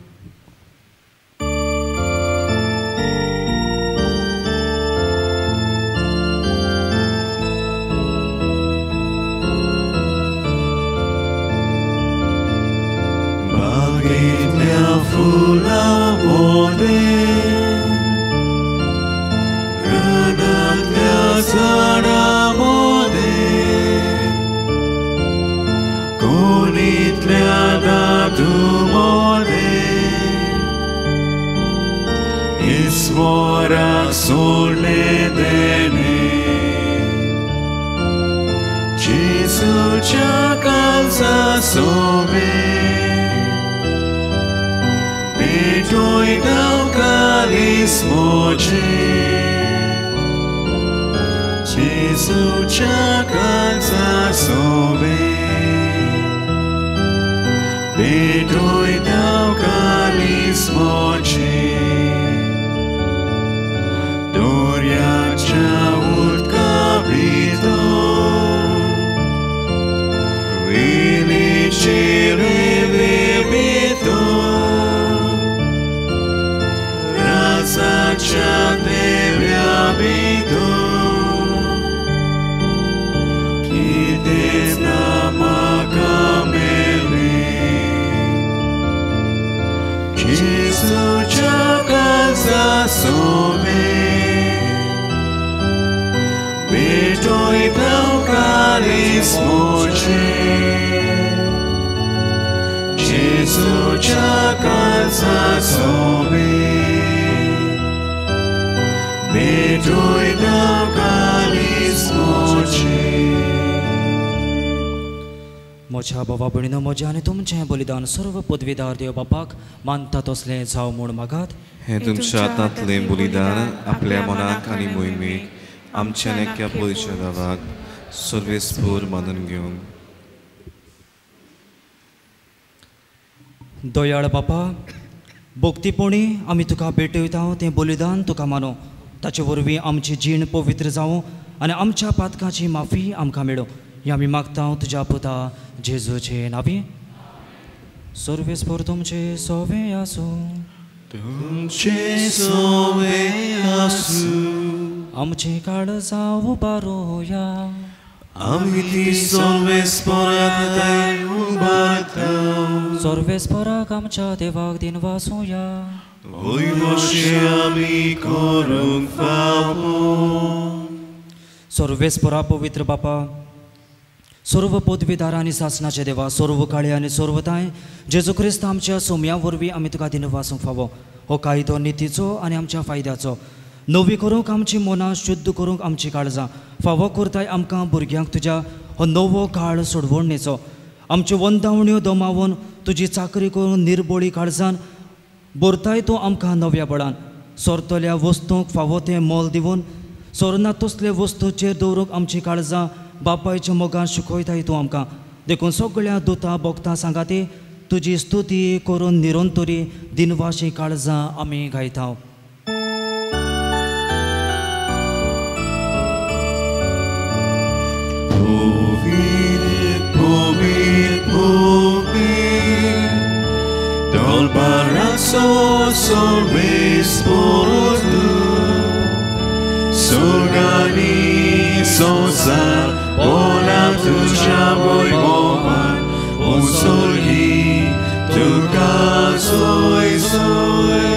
बागेंतल्या फुलां मोदें, रानांतल्या झाडां मोदें, कोणीतल्या दादू मोदें, ईश्वराक सोडलें देणें, जेजूच्या काळजा सोबें पेटयता कालीस म्हजें, जेजूच्या काळजा सोबें पेटयता कालीस म्हजें. दर्याच्या उदका भितर वेलीचे रेंवे भितर राजाच्या देव्या भितर कितेंच ना म्हाका मेळ्ळें, जेजूच्या काळजा सोबें पेटयता कालीस म्हजें, जेजूच्या काळजा सोबें पेटयता कालीस म्हजें. म्हज्या बाबा भयणीनो, म्हजें आनी तुमचें बलिदान सर्व पदवीदार देव बापाक मानता तसलें जावं म्हूण मागात. हें तुमच्या हातांतलें बलिदान आपल्या मनाक आनी मोहिमेक आमच्या नेक्या पयशा देवाक सर्वेस्पूर मानून घेवंक. दयाळ बापा, भक्तीपणी आमी तुका भेटयता तें बलिदान तुका मानू, ताचे वरवीं आमची जीण पवित्र जावं आनी आमच्या पातकाची माफी आमकां मेळूं. ही आमी मागता तुज्या पुता जेजूचे नांवी. सर्वेस्पोर तुमचे सोवे आसूं. तुमचे सोवे आसूं. आमचे काळजां उबारुया. आमी ती सर्वेस्पोराक उबारता. सर्वेस्पोराक आमच्या देवाक दिनवासुया. वय वशे आमी करूंक फावो. सर्वेस्पोरा पवित्र बापा, सर्व पदवीदार आनी सासणाचे देवा, सर्व काळे आनी सर्वताय जेजू क्रिस्त आमच्या सोम्या वरवीं आमी तुका दिनवासूंक फावो. हो कायदो नितीचो आनी आमच्या फायद्याचो नवी करूंक आमची मनां, शुद्ध करूंक आमची काळजां फावो करताय आमकां भुरग्यांक तुज्या हो नवो काळ सोडवणेचो. आमच्यो वंदावण्यो दमावन तुजी चाकरी करून निर्बोळी काळजान भरताय तूं आमकां नव्या बळान. सोरतल्या वस्तूंक फावो तें मोल दिवन सोरना तसले वस्तूचेर दवरूंक आमची काळजां बापायच्या मोगान शिकयताय तूं आमकां. देखून सगळ्या दुतां बोगतां सांगाती तुजी स्तुती करून निरंतरी दिनवाशी काळजां आमी गायता. Surgani sosa ola tuja voivova unsurgi tuka soi soi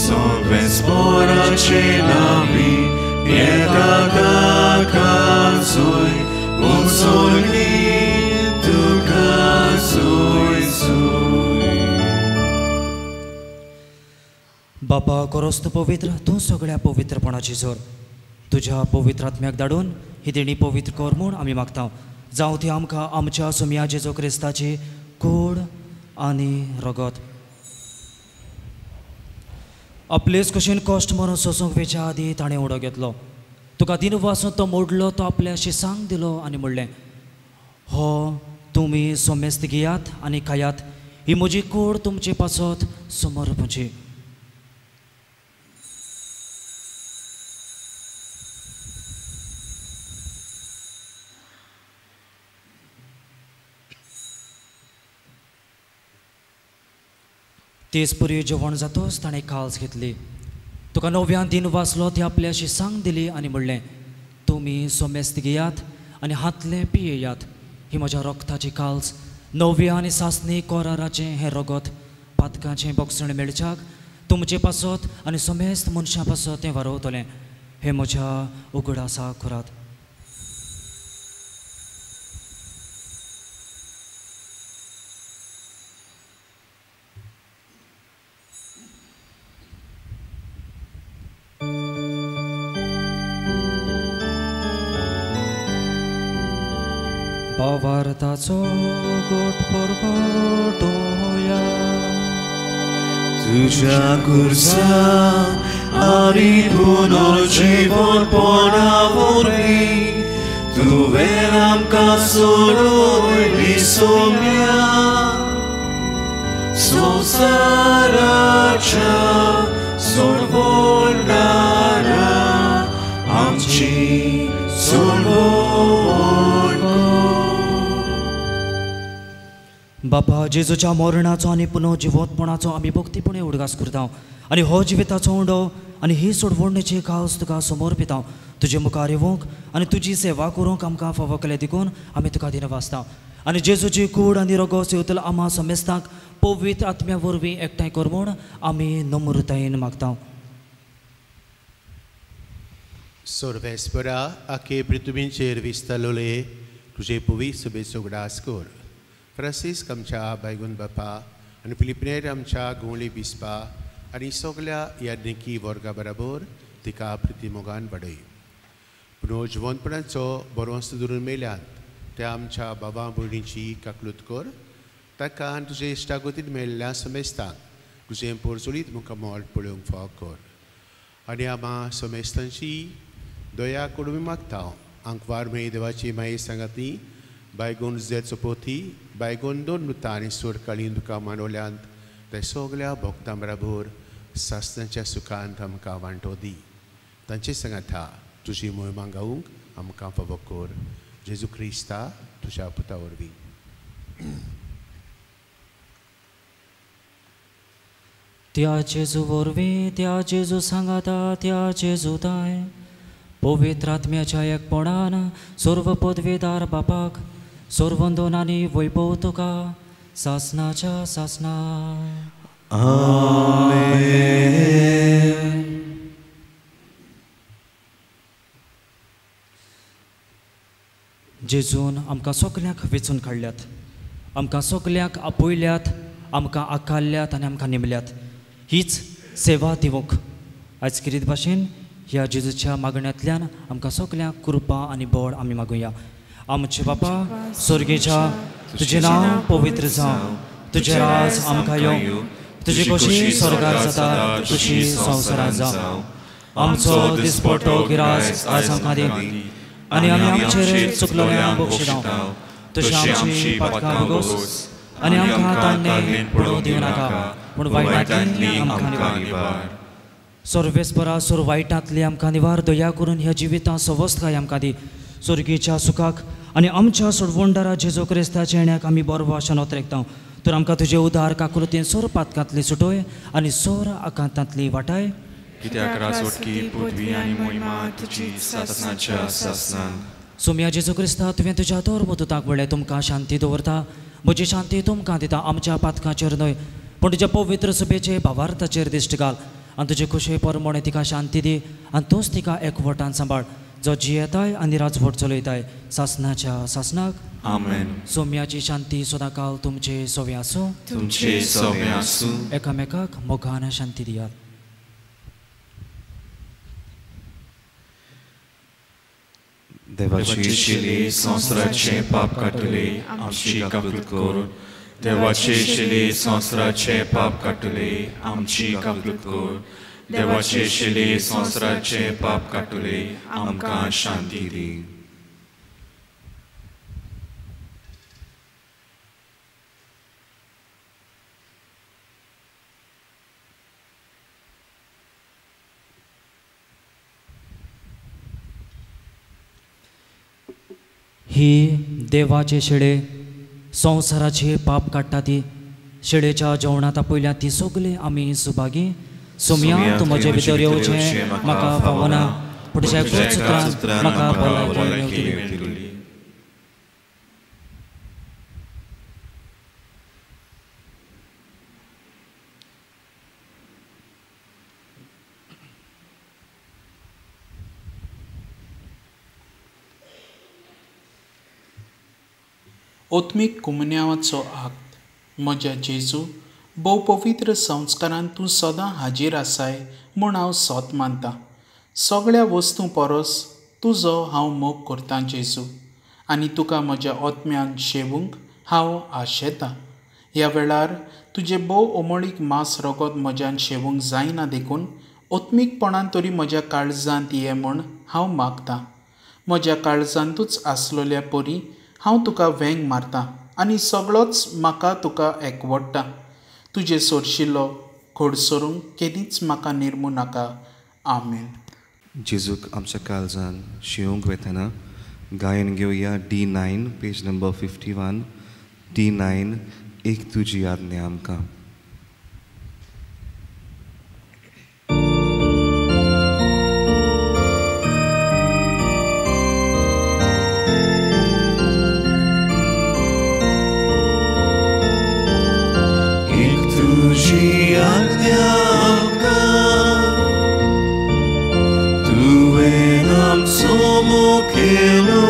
Sorvespora cenavi pietata casoi unsurgi tuka soi soi. बापा कोरोस्त पवित्र तूं सगळ्या पवित्रपणाची जोर तुज्या पवित्र आत्म्याक धाडून ही देणी पवित्र कर म्हूण आमी मागता. जावं ती आमकां आमच्या सोमया जेजू क्रिस्ताची कूड आनी रगत. आपलेच कशेन कश्ट मरून सोसूंक वेच्या आदी ताणें उडो घेतलो. तुका दिन वासून तो मोडलो, तो आपल्या शिसांक दिलो आनी म्हणलें, हो तुमी सोमेस्त घेयात आनी खायात, ही म्हजी कूड तुमचे पासत समर्पची. तेच पुरी जेवण जातोच ताणें काल्स घेतली, तुका नव्यान दिन वाचलो, ती आपल्या शिसांक दिली आनी म्हणलें, तुमी सोमेस्त घेयात आनी हातलें पियेयात, ही म्हज्या रगताची काल्स, नव्या आनी सासणी कोराराचें हें रगत पातकाचें बोगसण मेळच्याक तुमचे पासत आनी समेस्त मनशां पासत तें वारोवतलें. हें म्हज्या उगडासा करात. भावार्थाचो गोट परगटोया तुझ्या कुर्सा आनी पुनर्जीवनपणा वरवीं तुवें आमकां सोडयली सोम्या संवसाराच्या सोडवणारा आमची सोडवण. बापा जेजूच्या मरणाचो आनी पुनर्जिवंतपणाचो आमी भक्तीपणे उडगास करता आनी हो जिविताचो उंडो आनी ही सोडवणेची कावस तुका समर्पिता. तुजे मुखार येवंक आनी तुजी सेवा करूंक आमकां फावो केलें देखून आमी तुका दिना वाचता. आनी जेजूची कूड आनी रगो सेवतल आमा समेस्तांक पवित्र आत्म्या वरवीं एकठांय कर म्हूण आमी नम्रतायेन मागता. सोर्वेस्परा आखे पृथ्वीचेर विस्तारलोले तुजे पुवी सुबेचो उगडास कर. फ्रांसीस्क आमच्या बायगून बापा आनी फिलिपिनेर आमच्या गोंवली बिस्पा आनी सगल्या याज्ञिकी वर्गा बराबर तिका प्रितीमोगान वाडय. पुनर्जिवंतपणाचो बरोवंस धरून मेल्यात त्या आमच्या बाबा भयणीची काकलूत कर. ताका आनी तुजे इश्टागतीन मेळिल्ल्या समेस्तांक तुजें पोरचोलीत मुखामळ पळोवंक फावो कर. आनी आमा समेस्तांची दया करून मागता. आंकवार मेळी देवाची माये सांगाती बायगून झेत सोपोती बायगून दोन मृता आनी सुरकाळीन तुका मानवल्यांत ते सगल्या भोक्तां बराबर सासणाच्या सुखांत आमकां वांटो दी. तांचे सांगाता तुजी मोहिमा गावूंक आमकां फावो कर. जेजू क्रिस्ता तुज्या पुता वरवीं. त्या जेजू वरवीं, त्या जेजू सांगाता, त्या जेजू ताय पवित्र आत्म्याच्या एकपणान सर्व पदवीदार बापाक सर्वंदन आनी वैभव तुका सासनाच्या सासना. आमेन. जेजून आमकां सगल्यांक वेंचून काडल्यात, आमकां सगल्यांक आपयल्यात, आमकां आकारल्यात आनी आमकां नेमल्यात. हीच सेवा दिवंक आयज किरीत भाशेन ह्या जेजूच्या मागण्यांतल्यान आमकां सगल्यांक कृपा आनी बळ आमी मागुया. आमचे बापा स्वर्गेच्या, तुजें नांव पवित्र जावं, तुजें राज आमकां येवं, तुजी खोशी स्वर्गार जाता तशी संवसारांत जावं. आमचो दिसपट्टो गिरास आयज आमकां दी आनी आमी आमचेर चुकलोल्यांक बक्षिता तशी आमची पातकां भोगोस आनी आमकां ताणें पडोवंक दिवं नाका, पूण वायटांतली आमकां निवार. सर्वेस्परा सोर वायटांतली आमकां निवार. दया करून ह्या जिवितांत सवस्तकाय आमकां दी. स्वर्गीच्या सुखाक आनी आमच्या सोडवणदारा जेजू क्रिस्ताच्या येण्याक आमी बरो आशान ओतरेकता. तर आमकां तुजे उदार काकुळतेन सोर पातकांतली सुटोय आनी सोर आकांतांतली वाटाय. कित्याक राजवटकी पृथ्वी आनी मोहिमा तुजी सासणाच्या सासणान. सोम्या जेजू क्रिस्ता, तुवें तुज्या धर्मदूताक म्हणलें, तुमकां शांती दवरता, म्हजी शांती तुमकां दिता. आमच्या पातकांचेर न्हय पूण तुज्या पवित्र सभेचे भावार्थाचेर दिश्ट घाल आनी तुजे खुशे परमणे तिका शांती दी आनी तूंच तिका एकवटान सांबाळ, जो जियेताय आनी राजवट चलयताय सासणाच्या सासणाक. आमेन. सोम्याची शांती सदांकाल तुमचे सवे आसूं. तुमचे सवे आसूं. एकामेकाक मोगान शांती दियात. देवाची शिली संवसाराचे पाप काडटले आमची काकूत कर. देवाचे शिली संवसाराचे पाप काडटले आमची काकूत कर. देवाचे शिली संवसाराचे पाप काडटले आमकां शांती दी. ही देवाचे शेळे संवसाराचे पाप काडटा ती शेळेच्या जेवणांत आपयल्या ती सगळी आमी सुभागी. सोम्या, तूं म्हजे भितर येवचें म्हाका फावना, पूण तुज्या एकाच उतरान म्हाका भलायकी मेळटली. ओत्मीक कुमन्यावाचो आक्त. म्हज्या जेजू, भोव पवित्र संस्कारान तूं सदां हाजीर आसाय म्हूण हांव सोत मानतां. सगळ्या वस्तूं परस तुजो हांव मोग करतां जेजू, आनी तुका म्हज्या ओत्म्यान शेवूंक हांव आशेतां. ह्या वेळार तुजें भोव अमोळीक मांस रगत म्हज्यान शेवूंक जायना देखून ओत्मीकपणान तरी म्हज्या काळजांत ये म्हूण हांव मागतां. म्हज्या काळजांतूच आसलेल्या परी हांव तुका वेंग मारतां आनी सगळोच म्हाका तुका एकवडटा. तुजे सोरशिल्लो खोडसरूंक केदींच म्हाका निर्मू नाका. आमेन. जेजूक आमच्या काळजान शिवंक वेतना गायन घेवया D nine, page number fifty one. D nine, एक तुजी आज्ञा आमकां. तुजी आज्ञा आमकां, तुवें आमचो मोग केलो,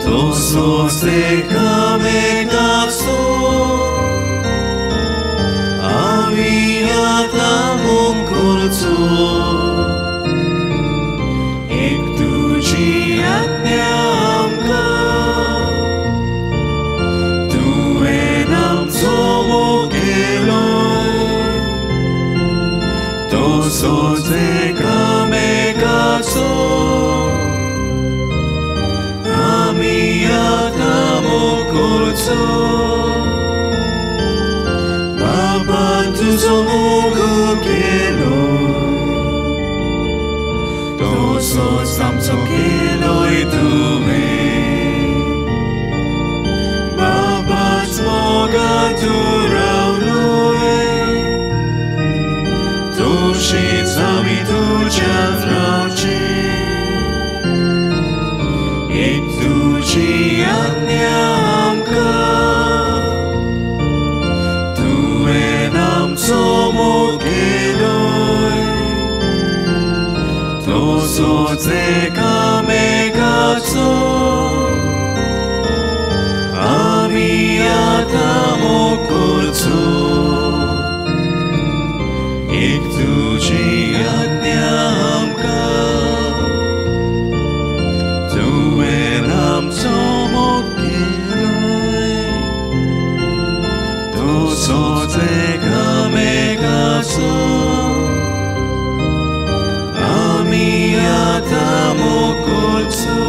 तसोच एकामेकाचो आमी आतां मोग करचो. एक तुजी आज्ञा आमकां, तुवें आमचो मोग केलो, तसोच एकामेकाचो आमी आतां मोग करचो. बाबा तुजो मोग केलो, तसोच आमचो केलोय तुवें. बाबाच मोगान तूं रावलोय, तशीच आमी तुज्यांत रावचें. एक तुजी आज्ञा आमकां, तुवें आमचो मोग केलोय, तसोच एकामेकाचो आमी आतां मोग करचो. एक तुजी आज्ञा आमकां, तुवें आमचो मोग केलोय, तसोच एकामेकाचो आमी आतां मोग करचो.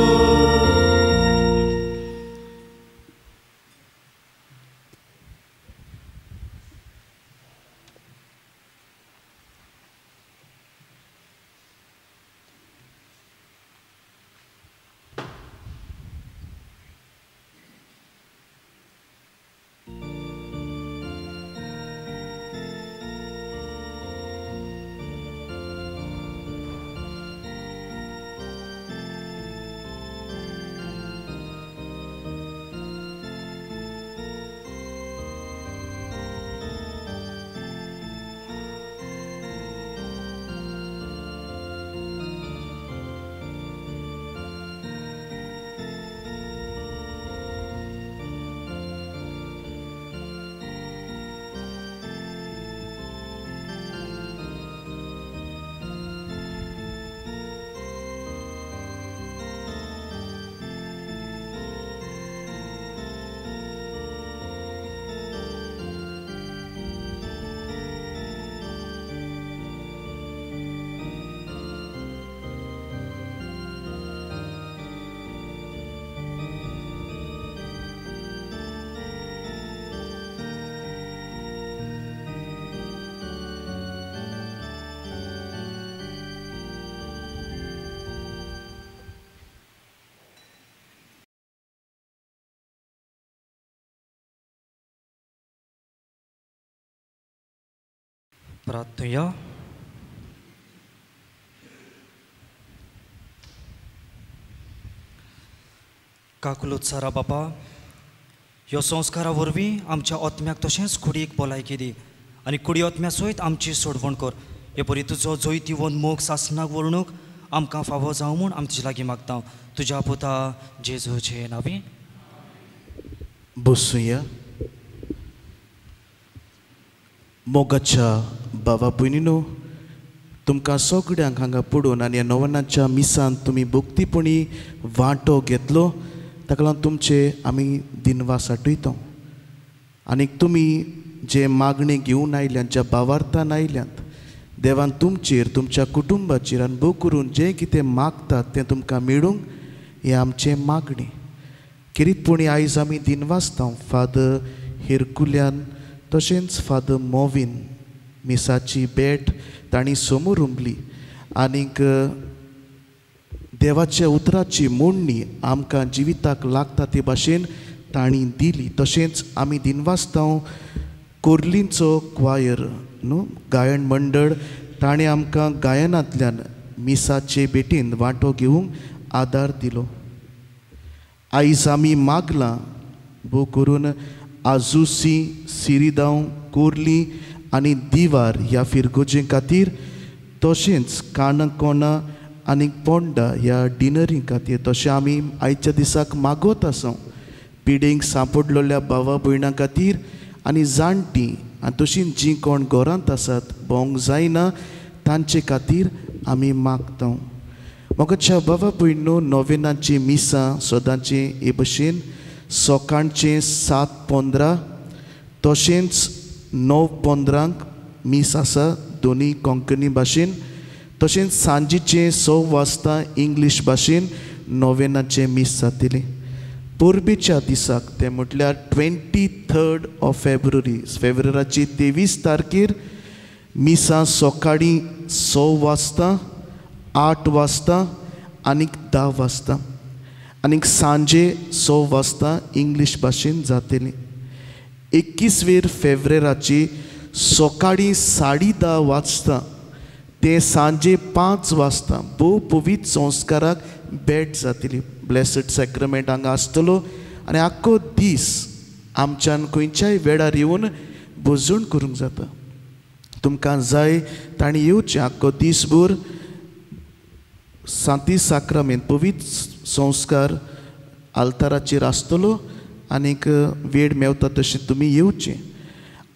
प्रार्थुया. काकुलूत सारा बापा, ह्यो संस्कारा वरवीं आमच्या आत्म्याक तशेंच कुडीक भलायकी दी आनी कुडी आत्म्या सयत आमची सोडवण कर. हे परी तुजो जैतिवंत मोग सासणाक वळणूक आमकां फावो जावं म्हूण आमी तुजे लागीं मागता, तुज्या पुता जेजूचे नांवी. बसुया. मोगाच्या बाबा भयणीनो, तुमकां सगळ्यांक हांगा पडून आनी ह्या नवनाच्या मिसांत तुमी भक्तीपणी वांटो घेतलो ताका लागून तुमचे आमी दिनवास आठयता. आनीक तुमी जे मागणी घेवन आयल्यात, ज्या भावार्थान आयल्यात, देवान तुमचेर तुमच्या कुटुंबाचेर आनी भोग करून जें कितें मागतात तें तुमकां मेळूंक हें आमचें मागणें. खेरीतपणी आयज आमी दिनवासता फादर हेरकुल्यान तशेंच फादर मोविन मिसाची भेट तांणी समोर उमली आनीक देवाच्या उतराची मोडणी आमकां जिविताक लागता ते भाशेन तांणी दिली. तशेंच आमी दिनवासता कोर्लींचो क्वायर न्हू गायन मंडळ ताणें आमकां गायनांतल्यान मिसाचे भेटीन वांटो घेवंक आदार दिलो. आयज आमी मागलां भोव करून आजुसी, सिरिदांव, कोर्ली आनी दिवार ह्या फिरगोजे खातीर, तशेंच काणकोणा आनी पोंडा ह्या डिनरी खातीर. तशें आमी आयच्या दिसाक मागत आसा पिडेंक सांपडलेल्या भावा भयणां खातीर आनी जाणटीं आनी तशीं जीं कोण घरांत आसात भोंवंक जायना तांचे खातीर आमी मागता. म्हाका बाबा भयणो, नोवेनाचीं मिसां सदांचें हे भशेन सकाळचें सात पंदरा तशेंच णव पंदरांक मीस आसा दोनी कोंकणी भाशेन, तशेंच सांजेचें स वाजता इंग्लीश भाशेन नोवेनाचें मीस जातलें. परबेच्या दिसाक तें म्हटल्यार ट्वेंटी थर्ड ऑफ फेब्रुवारी, फेब्रुवाराची तेवीस तारखेर मिसां सकाळीं स वाजता, आठ वाजता आनीक धा वाजता आनीक सांजे स वाजता इंग्लीश भाशेन जातलें. एकवीसवेर फेब्रेराची सकाळीं साडे धा वाजता ते सांजे पांच वाजता भोव पवित्र संस्काराक भेट जातली. ब्लेसड सॅक्रमेंट हांगा आसतलो आनी आख्खो दीस आमच्यान खंयच्याय वेळार येवन भजण करूंक जाता. तुमकां जाय तांणी येवचें. आख्खो दीसभर सांती साक्रामेंत पवित्र संस्कार आल्ताराचेर आसतलो आनीक वेळ मेवता तशें तुमी येवचें.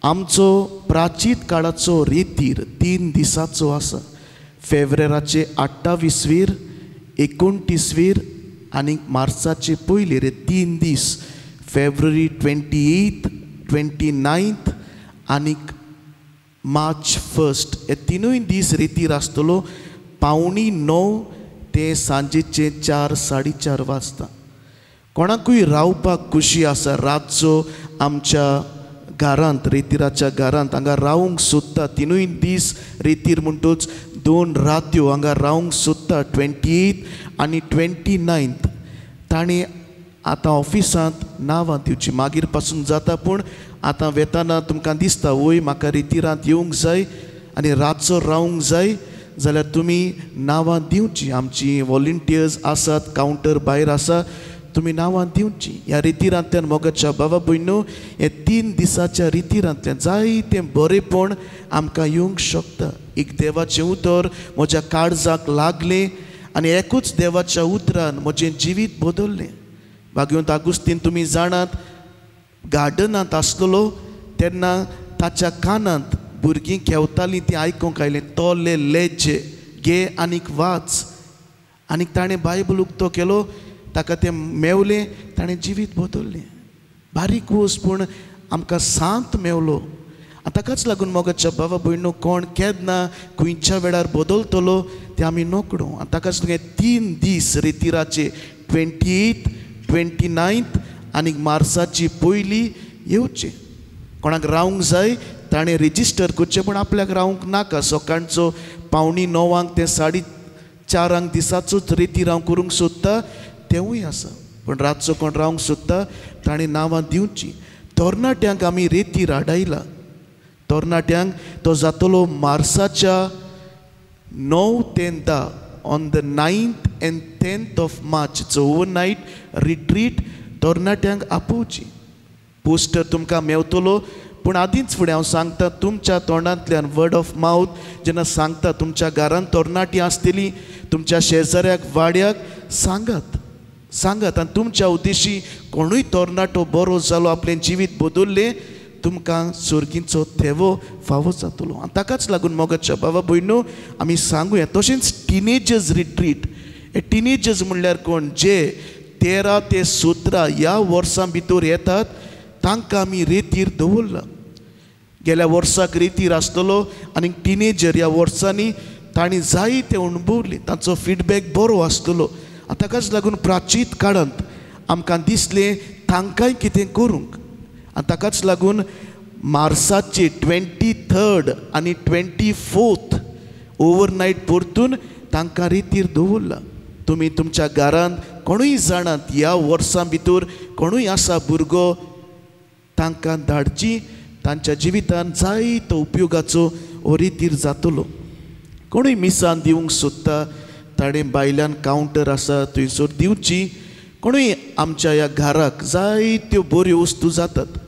आमचो प्राचीन काळाचो रेतीर तीन दिसाचो आसा. फेब्रेराचे अठ्ठावीसवेर, एकोणतीसवेर आनी मार्चाचे पयले रे तीन दीस, February twenty eighth, twenty ninth आनीक मार्च फर्स्ट हे तिनूय दीस रेतीर आसतलो. पावणी णव ते सांजेचे चार साडे चार वाजता. कोणाकूय रावपाक खुशी आसा रातचो आमच्या घरांत, रेतिराच्या घरांत हांगा रावंक सोदता तिनूय दीस रेतीर म्हणटूच दोन रात्यो हांगा रावंक सोदता ट्वेंटी एथ आनी ट्वेंटी नायन्थ ताणें आतां ऑफिसांत नांवां दिवचीं. मागीर पासून जाता पूण आतां वेताना तुमकां दिसता वय म्हाका रेतिरांत येवंक जाय आनी रातचो रावंक जाय जाल्यार तुमी नांवां दिवचीं. आमची वॉलंटियर्स आसात, कावंटर भायर आसा, तुमी नांवां दिवचीं. ह्या रितिरांतल्यान मोगाच्या बाबा भयणो, हे तीन दिसाच्या रितिरांतल्यान जायतें बरेंपण आमकां येवंक शकता. एक देवाचें उतर म्हज्या काळजाक लागलें आनी एकूच देवाच्या उतरान म्हजें जिवीत बदल्लें. भाग्यवंत आगुस्तीन तुमी जाणात गार्डनांत आसलेलो तेन्ना ताच्या कानांत भुरगीं खेवतालीं तीं आयकूंक आयलें, तोले लेजे घे आनीक वाच. आनीक ताणें बायबल उक्तो केलो, ताका तें मेवलें, ताणें जिवीत बदल्लें. बारीक वस्त पूण आमकां सांत मेवलो. आनी ताकाच लागून मोगाच्या बाबा भयणो, कोण केन्ना खंयच्या वेळार बदलतलो तें आमी नकडो. आनी ताकाच लागून तीन दीस रेतिराचे ट्वेंटी एथ, ट्वेंटी नायन्थ आनी मार्साची पयली येवचें. कोणाक रावंक जाय ताणें रेजिस्टर करचें, पूण आपल्याक रावंक नाका. सकाळचो पावणी णवांक ते साडे चारांक दिसाचोच रेतीर हांव करूंक सोदता तेंवूय आसा, पूण रातचो कोण रावंक सोदता ताणें नांवां दिवचीं. तरणाट्यांक आमी रेतीर हाडायला, तरणाट्यांक तो जातलो मार्साच्या णव ते धा on the ninth and tenth of March. It's overnight retreat. तरणाट्यांक आपोवची. पोस्टर तुमकां मेवतलो पूण आदींच फुडें हांव सांगता तुमच्या तोंडांतल्यान वर्ड ऑफ मावथ जेन्ना सांगता तुमच्या घरांत तरणाटीं आसतलीं तुमच्या शेजाऱ्याक वाड्याक सांगात सांगात आनी तुमच्या उद्देशी कोणूय तरणाटो बरो जालो आपलें जिवीत बदल्लें तुमकां सर्गीचो थेवो फावो जातलो. आनी ताकाच लागून मोगाच्या बाबा भयणो आमी सांगुया. तशेंच टिनेजर्स रिट्रीट. हे टिनेजर्स म्हणल्यार कोण जे तेरा ते सतरा ह्या वर्सां भितर येतात तांकां आमी रेतीर दवरला. गेल्या वर्साक रेतीर आसतलो आनी टिनेजर ह्या वर्सांनी तांणी जायते अणभवले तांचो फिडबॅक बरो आसतलो. आनी ताकाच लागून प्राचीत काळांत आमकां दिसलें तांकांय कितें करूंक. आनी ताकाच लागून मार्साचे ट्वेंटी थर्ड आनी ट्वेंटी फोर्थ ओवरनायट परतून तांकां रेतीर दवरला. तुमी तुमच्या घरांत कोणूय जाणात ह्या वर्सां भितर कोणूय आसा भुरगो तांकां धाडची तांच्या जिवितान जायतो उपयोगाचो हो रितीर जातलो. कोणूय मिसान दिवंक सोदता ताणें भायल्यान कावंटर आसा थंयसर दिवची. कोणूय आमच्या ह्या घराक जायत्यो बऱ्यो वस्तू जातात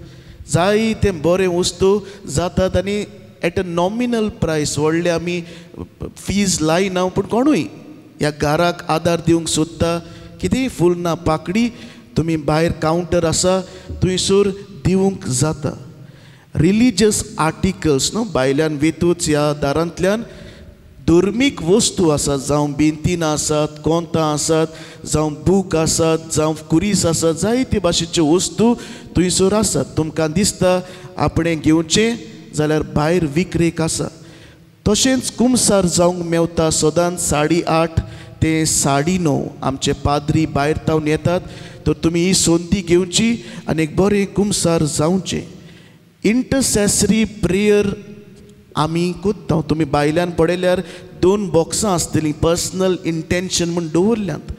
जायते बरे वस्तू जातात आनी एट अ नॉमिनल प्रायस व्हडले आमी फीज लायना पूण कोणूय ह्या घराक आदार दिवंक सोदता कितेंय फुलना पाकडी तुमी भायर कावंटर आसा थंयसर दिवंक जाता. रिलीजियस आर्टिकल्स न्हू भायल्यान वेतूच ह्या दारांतल्यान धर्मीक वस्तू आसात जावं बेंतिनां आसात कोंतां आसात जावं बूक आसात जावं कुरीस आसात जायते भाशेच्यो वस्तू थंयसर आसात. तुमकां दिसता आपणें घेवचें जाल्यार भायर विक्रेक आसा. तशेंच कुमसार जावंक मेवता सदांच साडे आठ ते साडे णव आमचे पाद्री भायर तावन येतात तर तुमी ही संदी घेवची आनी एक बरें कुमसार जावचें. इंटरसेसरी प्रेयर आमी कोत्ता. तुमी भायल्यान पळयल्यार दोन बॉक्सां आसतलीं पर्सनल इंटेन्शन म्हूण दवरल्यांत.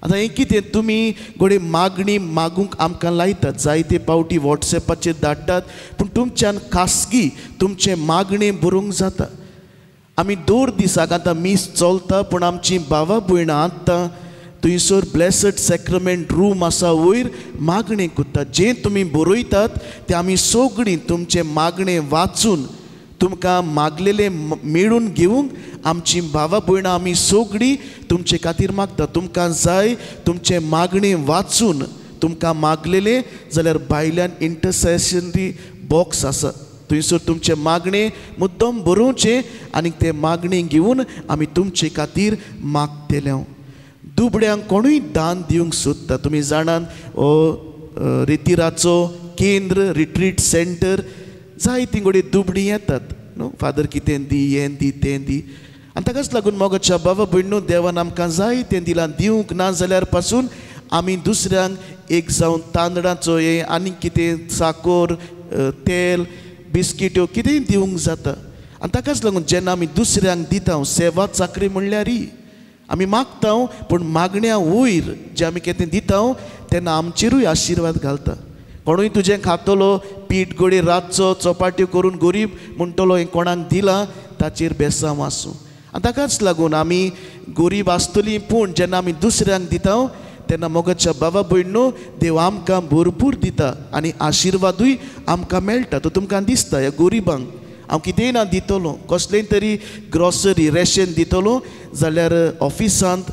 आतां हें कितें तुमी घडये मागणी मागूंक आमकां लायतात जायते पावटी वॉट्सएपाचेर धाडटात पूण तुमच्यान खासगी तुमचें मागणें बरोवंक जाता. आमी दर दिसाक आतां मीस चलता पूण आमची भावा भयणां आतां थंयसर ब्लेसड सॅक्रमेंट रूम आसा वयर मागणें करतात. जें तुमी बरयतात तें आमी सगळीं तुमचें मागणें वाचून तुमकां मागलेलें मेळून घेवंक आमची भावा भयणां आमी सगळीं तुमचे खातीर मागता. तुमकां जाय तुमचें मागणें वाचून तुमकां मागलेलें जाल्यार भायल्यान इंटरसेशनरी बॉक्स आसा थंयसर तुमचें मागणें मुद्दम बरोवचें आनी तें मागणें घेवन आमी तुमचे खातीर मागतले. दुबड्यांक कोणूय दान दिवंक सोदता तुमी जाणात हो रितिराचो केंद्र रिट्रीट सेंटर जायतीं घडये दुबडीं येतात न्हू फादर कितें दी हें दी तें दी आनी ताकाच लागून मोगाच्या बाबा भयणू देवान आमकां जाय तें दिलां. दिवंक ना जाल्यार पासून आमी दुसऱ्यांक एक जावन तांदळाचो हें आनी कितें साकोर तेल बिस्किट्यो कितेंय दिवंक जाता. आनी ताकाच लागून जेन्ना आमी दुसऱ्यांक दिता सेवा चाकरी म्हणल्यार ही आमी मागता पूण मागण्या वयर जें आमी कितें दिता तेन्ना आमचेरूय आशिर्वाद घालता. कोणूय तुजें खातलो पीठ घडये रातचो चपाट्यो करून गरीब म्हणटलो हें कोणाक दिलां ताचेर बेसांव आसूं. आनी ताकाच लागून आमी गरीब आसतलीं पूण जेन्ना आमी दुसऱ्यांक दिता तेन्ना मोगाच्या बाबा भयणो देव आमकां भरपूर दिता आनी आशिर्वादूय आमकां मेळटा. तो तुमकां दिसता ह्या गरिबांक हांव कितेंय ना दितलो कसलें तरी ग्रॉसरी रेशन दितलो जाल्यार ऑफिसांत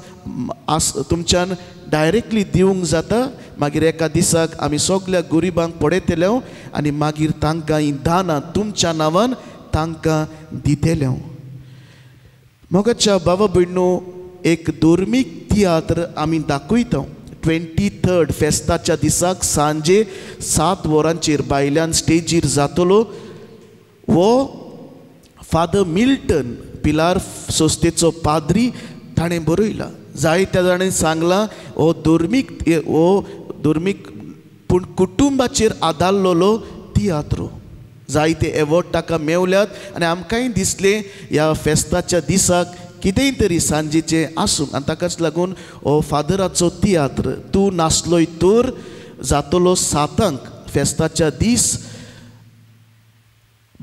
आस तुमच्यान डायरेक्टली दिवंक जाता. मागीर एका दिसाक आमी सगल्या गरिबांक पळयतले आनी मागीर तांकां ही दानां तुमच्या नांवान तांकां दितले. मोगाच्या बाबा भयणो एक धर्मीक तियात्र आमी दाखयता. ट्वेंटी थर्ड फेस्ताच्या दिसाक सांजे सात वरांचेर भायल्यान स्टेजीर जातलो. वो फादर मिल्टन पिलार संस्थेचो पाद्री ताणें बरयला. जायत्या जाणांनी सांगलां हो धर्मीक हो धर्मीक पूण कुटुंबाचेर आदारलेलो तियात्र. जायते एवॉर्ड ताका मेवल्यात आनी आमकांय दिसलें ह्या फेस्ताच्या दिसाक कितेंय तरी सांजेचें आसूं आनी ताकाच लागून हो फादराचो तियात्र तूं नासलोय तर जातलो सातांक फेस्ताच्या दीस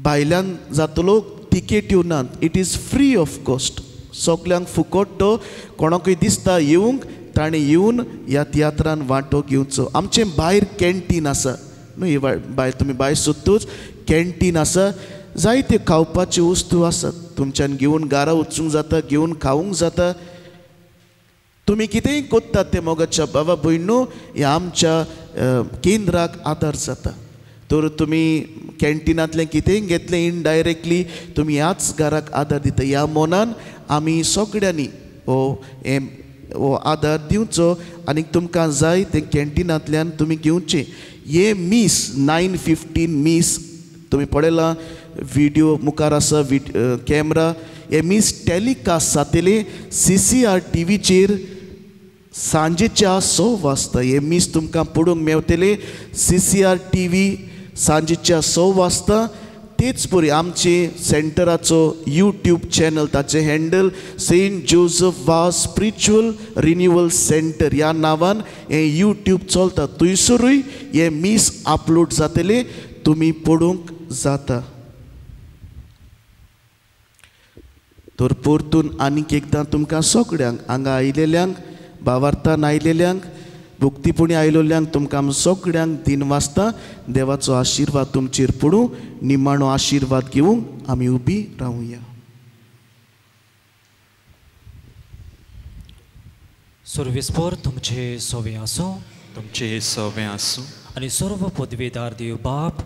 भायल्यान जातलो, तिकेट्यो नात, it is free of cost. सगल्यांक फुकट तो, कोणाकूय दिसता येवंक ताणें येवन ह्या तियात्रान वांटो घेवचो. आमचें भायर कॅन्टीन आसा न्हू, भायर तुमी भायर सोदतूच कॅन्टीन आसा, जायत्यो खावपाच्यो वस्तू आसात, तुमच्यान घेवन घरा वचूंक जाता, घेवन खावंक जाता. तुमी कितेंय कोत्तात तें मोगाच्या बाबा भयणू ह्या आमच्या केंद्राक आदार जाता. तर तुमी कॅन्टिनांतलें कितेंय घेतलें इनडायरेक्टली तुमी ह्याच घराक आदार दिता. ह्या मनान आमी सगळ्यांनी हो हें हो आदार दिवचो आनी तुमकां जाय तें कॅन्टिनांतल्यान तुमी घेवचें. हे मीस नायन फिफ्टीन मीस तुमी पळयलां, व्हिडियो मुखार आसा, कॅमरा. हे मीस टेलिकास्ट जातलें सी सी आर टी व्हीचेर सांजेच्या स वाजता. हे मीस तुमकां पळोवंक मेवतलें C C R T V सांजेच्या स वाजता. तेच परी आमचे सेंटराचो यूट्यूब चॅनल, ताचें handle Saint Joseph Vaz spiritual renewal centre ह्या नांवान हें यूट्यूब चलता, थंयसरूय हें मीस अपलोड जातलें, तुमी पळोवंक जाता. तर परतून आनीक एकदां तुमकां सगळ्यांक हांगा आयिल्ल्यांक, भावार्थान आयिल्ल्यांक, भक्तीपणी आयिल्ल्यांक तुमकां सगळ्यांक दिन वाजता. देवाचो आशिर्वाद तुमचेर पडूं. निमाणो आशिर्वाद घेवंक आमी उबी रावया. सर्वेस्पर तुमचे सोवे आसूं, तुमचे सोवे आसूं, आनी सर्व पदवीदार देव बाप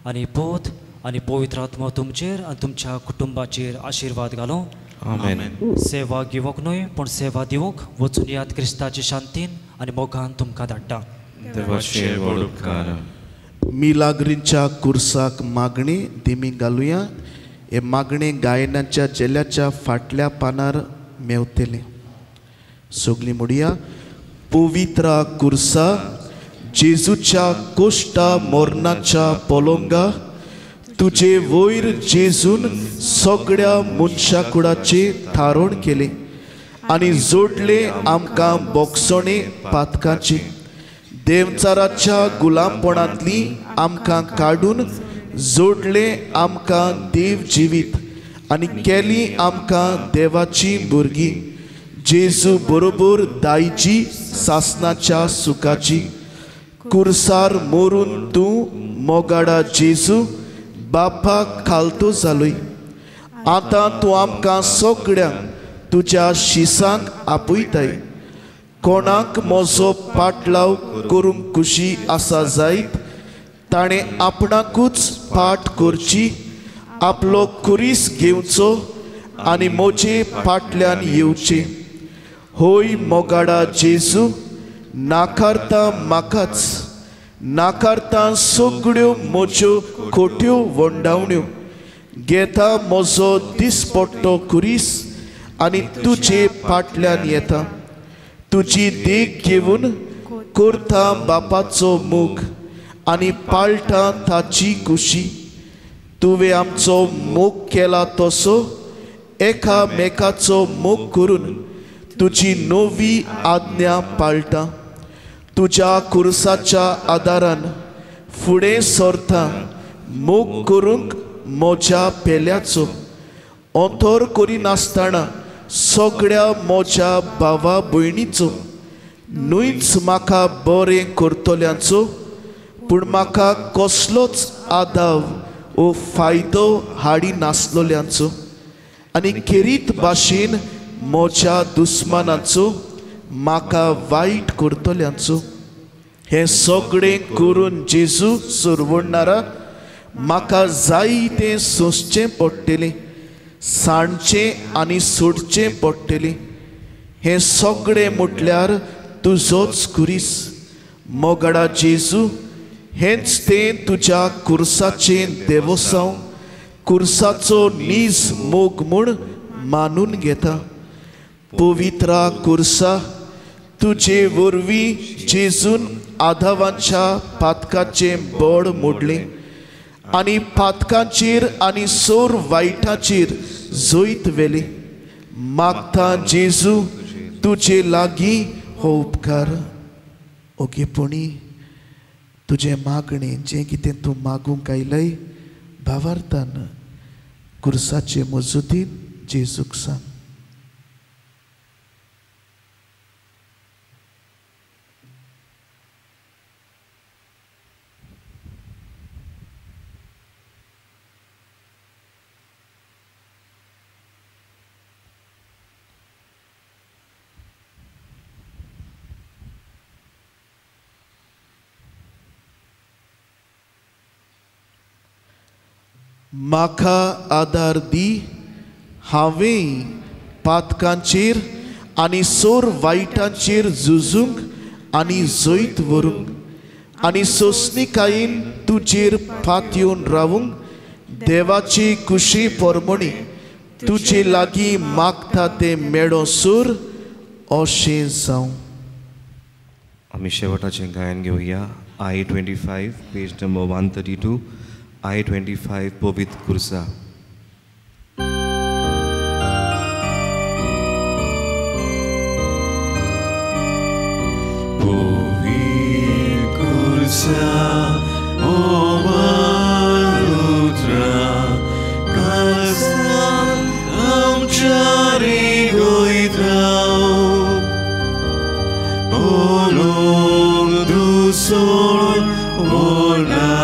आनी पोत आनी पवित्र आत्मा तुमचेर आनी तुमच्या कुटुंबाचेर आशिर्वाद घालूं. आमेन. सेवा घेवंक न्हय पूण सेवा दिवंक वचून याद क्रिस्ताचे शांतीन आनी मोगान तुमकां धाडटा. देवाचे व्हड उपकार. मिलाग्रींच्या कुर्साक मागणी दिमी घालुया. हे मागणे गायनाच्या झेल्याच्या फाटल्या पानार मेवतलें. सगळीं म्हणया, पवित्रा कुर्सा जेजूच्या कोश्टा मोरनाच्या पोलोंगा तुजे वयर जेजून सगळ्या मनशा कुडाचें थारण केलें आनी जोडलें आमकां बोगसणे पातकाची. देवचाराच्या गुलामपणांतली आमकां काडून जोडलें आमकां देव जिवीत आनी केली आमकां देवाची भुरगीं. जेजू बरोबर दायजी सासनाच्या सुखाची. कुर्सार मोरून तूं मोगाडा जेजू बापाक खालतो जालोय. आतां तूं आमकां सगळ्यांक तुज्या शिसांक आपयताय. कोणाक म्हजो पाटलाव करूंक खुशी आसा जायत ताणें आपणाकूच पाट करची, आपलो खुरीस घेवचो आनी म्हजे फाटल्यान येवचें. होय मोगाडा जेजू, नाकारता म्हाकाच, नाकारता सगळ्यो म्हज्यो खोट्यो वंडावण्यो, घेता म्हजो दिसपट्टो खुरीस आनी तुजे फाटल्यान येता. तुजी देख घेवन करता बापाचो मोग आनी पाळटा ताची खुशी. तुवें आमचो मोग केला तसो एकामेकाचो मोग करून तुजी नवी आज्ञा पाळटा. तुज्या कुर्साच्या आदारान फुडें सरता मोग करूंक म्हज्या पेल्याचो. अंतर करिनासतना सगळ्या म्हज्या भावा भयणीचो, न्हयच म्हाका बरें करतल्यांचो, पूण म्हाका कसलोच आदाव ओ फायदो हाडी नासलोल्यांचो आनी खेरीत भाशेन म्हज्या दुस्मानाचो, म्हाका वायट करतल्यांचो. हें सगळें करून जेजू सरवणणारा म्हाका जाय तें सोंसचें पडटलें, सांडचें आनी सोडचें पडटलें. हें सगळें म्हटल्यार तुजोच खुरीस. मोगाडा जेजू, हेंच तें तुज्या कुर्साचें देवोसांव, कुर्साचो नीज मोग म्हूण मानून घेता. पवित्रा कुर्सा, तुजे वरवीं जेजून आधावांच्या पातकाचें बळ मोडलें आनी पातकांचेर आनी सोर वायटाचेर जैत व्हेलें. मागता जेजू तुजे लागीं हो उपकार. ओगेपणी तुजें मागणें जें कितें तूं मागूंक आयलय भावार्थान कुर्साचे मजुदीन जेजूक सांग. म्हाका आदार दी, हांवें पातकांचेर आनी सोर वायटांचेर झुजूंक आनी जैत व्हरूंक आनी सोंसणीकायेन तुजेर पातयेवन रावूंक देवाची कुशी परमणी तुजे लागीं मागता तें मेळो सूर अशें जावं. आमी शेवटाचें गायन घेवया. I twenty five page number one thirty two. I twenty five पवित्र कुर्सा. पवित्र कुर्सा मोवार उतरा काळजान आमच्या रिगयता पळोवंक दुसोर वनाराचो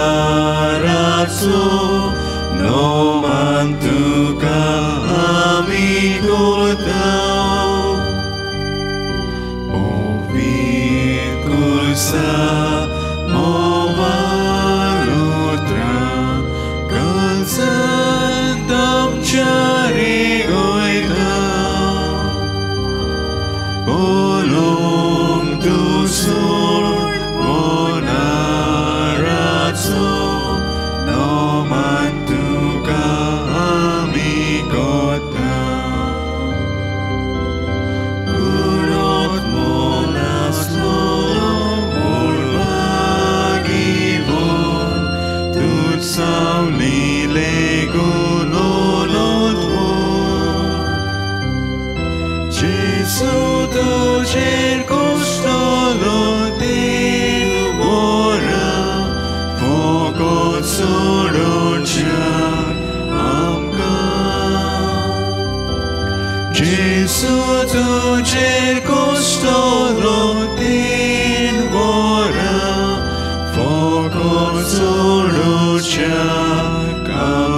नोमान तुका आमी करता. पवित्र कुर्सा मोवार उतरा काळजांत आमच्या रिगयता पळोवंक दुसोर वनाराचो नोमान तुका आमी करता. कुडोत मोनासलो उडवागिवन तूं सावलिले गुणोलोत जेजू तुजेर कोसलो तीन वरां फकत सोडोवच्याक आमकां. जेजू तुजेर कोसलो तीन वरां फकत सोडोवच्याक आमकां.